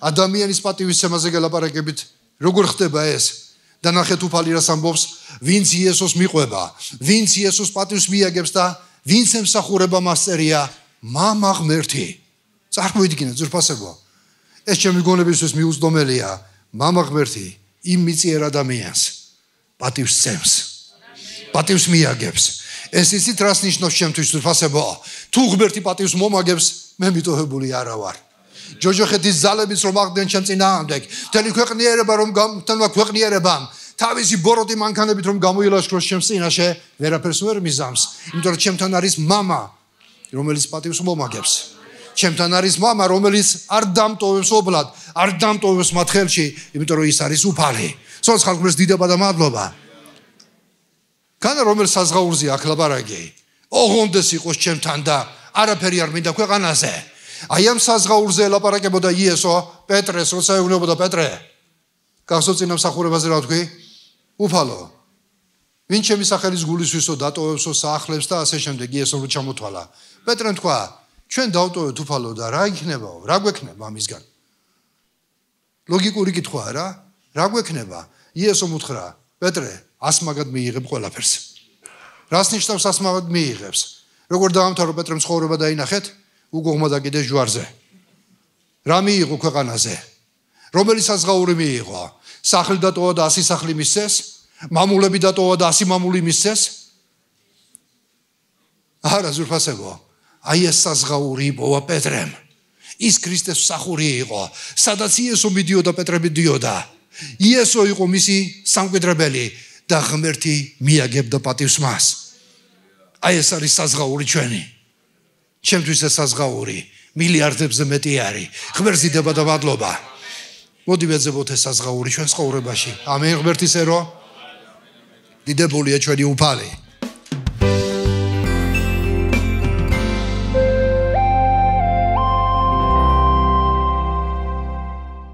ადამიანის პატივისცემაზე გელაპარაკებით როგორ ხდება ეს და ნახეთ უფალი რას ამბობს ვინც იესოს მიყვება ვინც იესოს პატივს მიაგებს და ვინც ემსახურება მას წერია მამა ღმერთი. წარმოიდგინეთ ძვირფასებო ეს ჩემი გონებისთვის მიუწვდომელია მამა ღმერთი იმ მიწიერ ადამიანს პატივს სცემს პატივს მიაგებს. ეს იცით რას ნიშნავს ჩემთვის ძვირფასებო თუ ღმერთი პატივს მომაგებს მე მიტოვებული არა ვარ. ჯოჯოხეთის ძალებიც რომ აღდნენ ჩემ წინააღმდეგ მთელი ქვეყნიერება რომ მთელმა ქვეყნიერებამ თავისი ბოროტი მანქანებით რომ გამოილაშქროს ჩემს წინაშე ვერაფერს ვერ მიზამს იმიტომ რომ ჩემთან არის მამა რომელიც პატივს მომაგებს. ჩემთან არის მამა რომელიც არ დამტოვებს ობლად არ დამტოვებს მათ ხელში იმიტომ რომ ის არის უფალი. ცოცხალს დიდება და მადლობა. განა რომელ საზღაურზე აქ ლაპარაკი ოღონდეს იყოს ჩემთან და არაფერი არ მინდა ქვეყანაზე. აი ამ საზღაურზე ელაპარაკებოდა იესო პეტრეს როცა ეუბნებოდა პეტრე გახსოვს წინა მსახურებაზე რა თქვი უფალო ვინ ჩემი სახელის გულისვისო დატოვებსო საახლებს და ასე შემდეგ იესომ რო ჩამოთვალა პეტრემ თქვა ჩვენ დავტოვეთ უფალო და რა იქნებაო რა გვექნება ამისგან ლოგიკური კითხვაა რა გვექნება იესომ უთხრა პეტრე ასმაგად მიიღებ ყველაფერს. რას ნიშნავს ასმაგად მიიღებს? როგორ დაამთავრო პეტრემ ცხოვრება დაინახეთ უგოღმა დაკიდეს ჯვარზე. რა მიიღო ქვეყანაზე? რომელი საზღაური მიიღო? სახლი დატოვა და 100 სახლი მისცეს? მამულები დატოვა და 100 მამული მისცეს? არა ზურფასებო. აი ეს საზღაური იპოვა პეტრემ. ის ქრისტეს მსახური იყო, სადაც იესო მიდიოდა პეტრე მიდიოდა. იესო იყო მისი სამკვიდრებელი და ღმერთი მიაგებდა პატივს მას. აი ეს არის საზღაური ჩვენი. ჩემთვის ეს საზღაური მილიარდებზე მეტი არის. ღმერთს დიდება და მადლობა. მოდი ვეძებოთ ეს საზღაური ჩვენ ცხოვრებაში. ამენ ღმერთის ერო დიდებულია ჩვენი უფალი.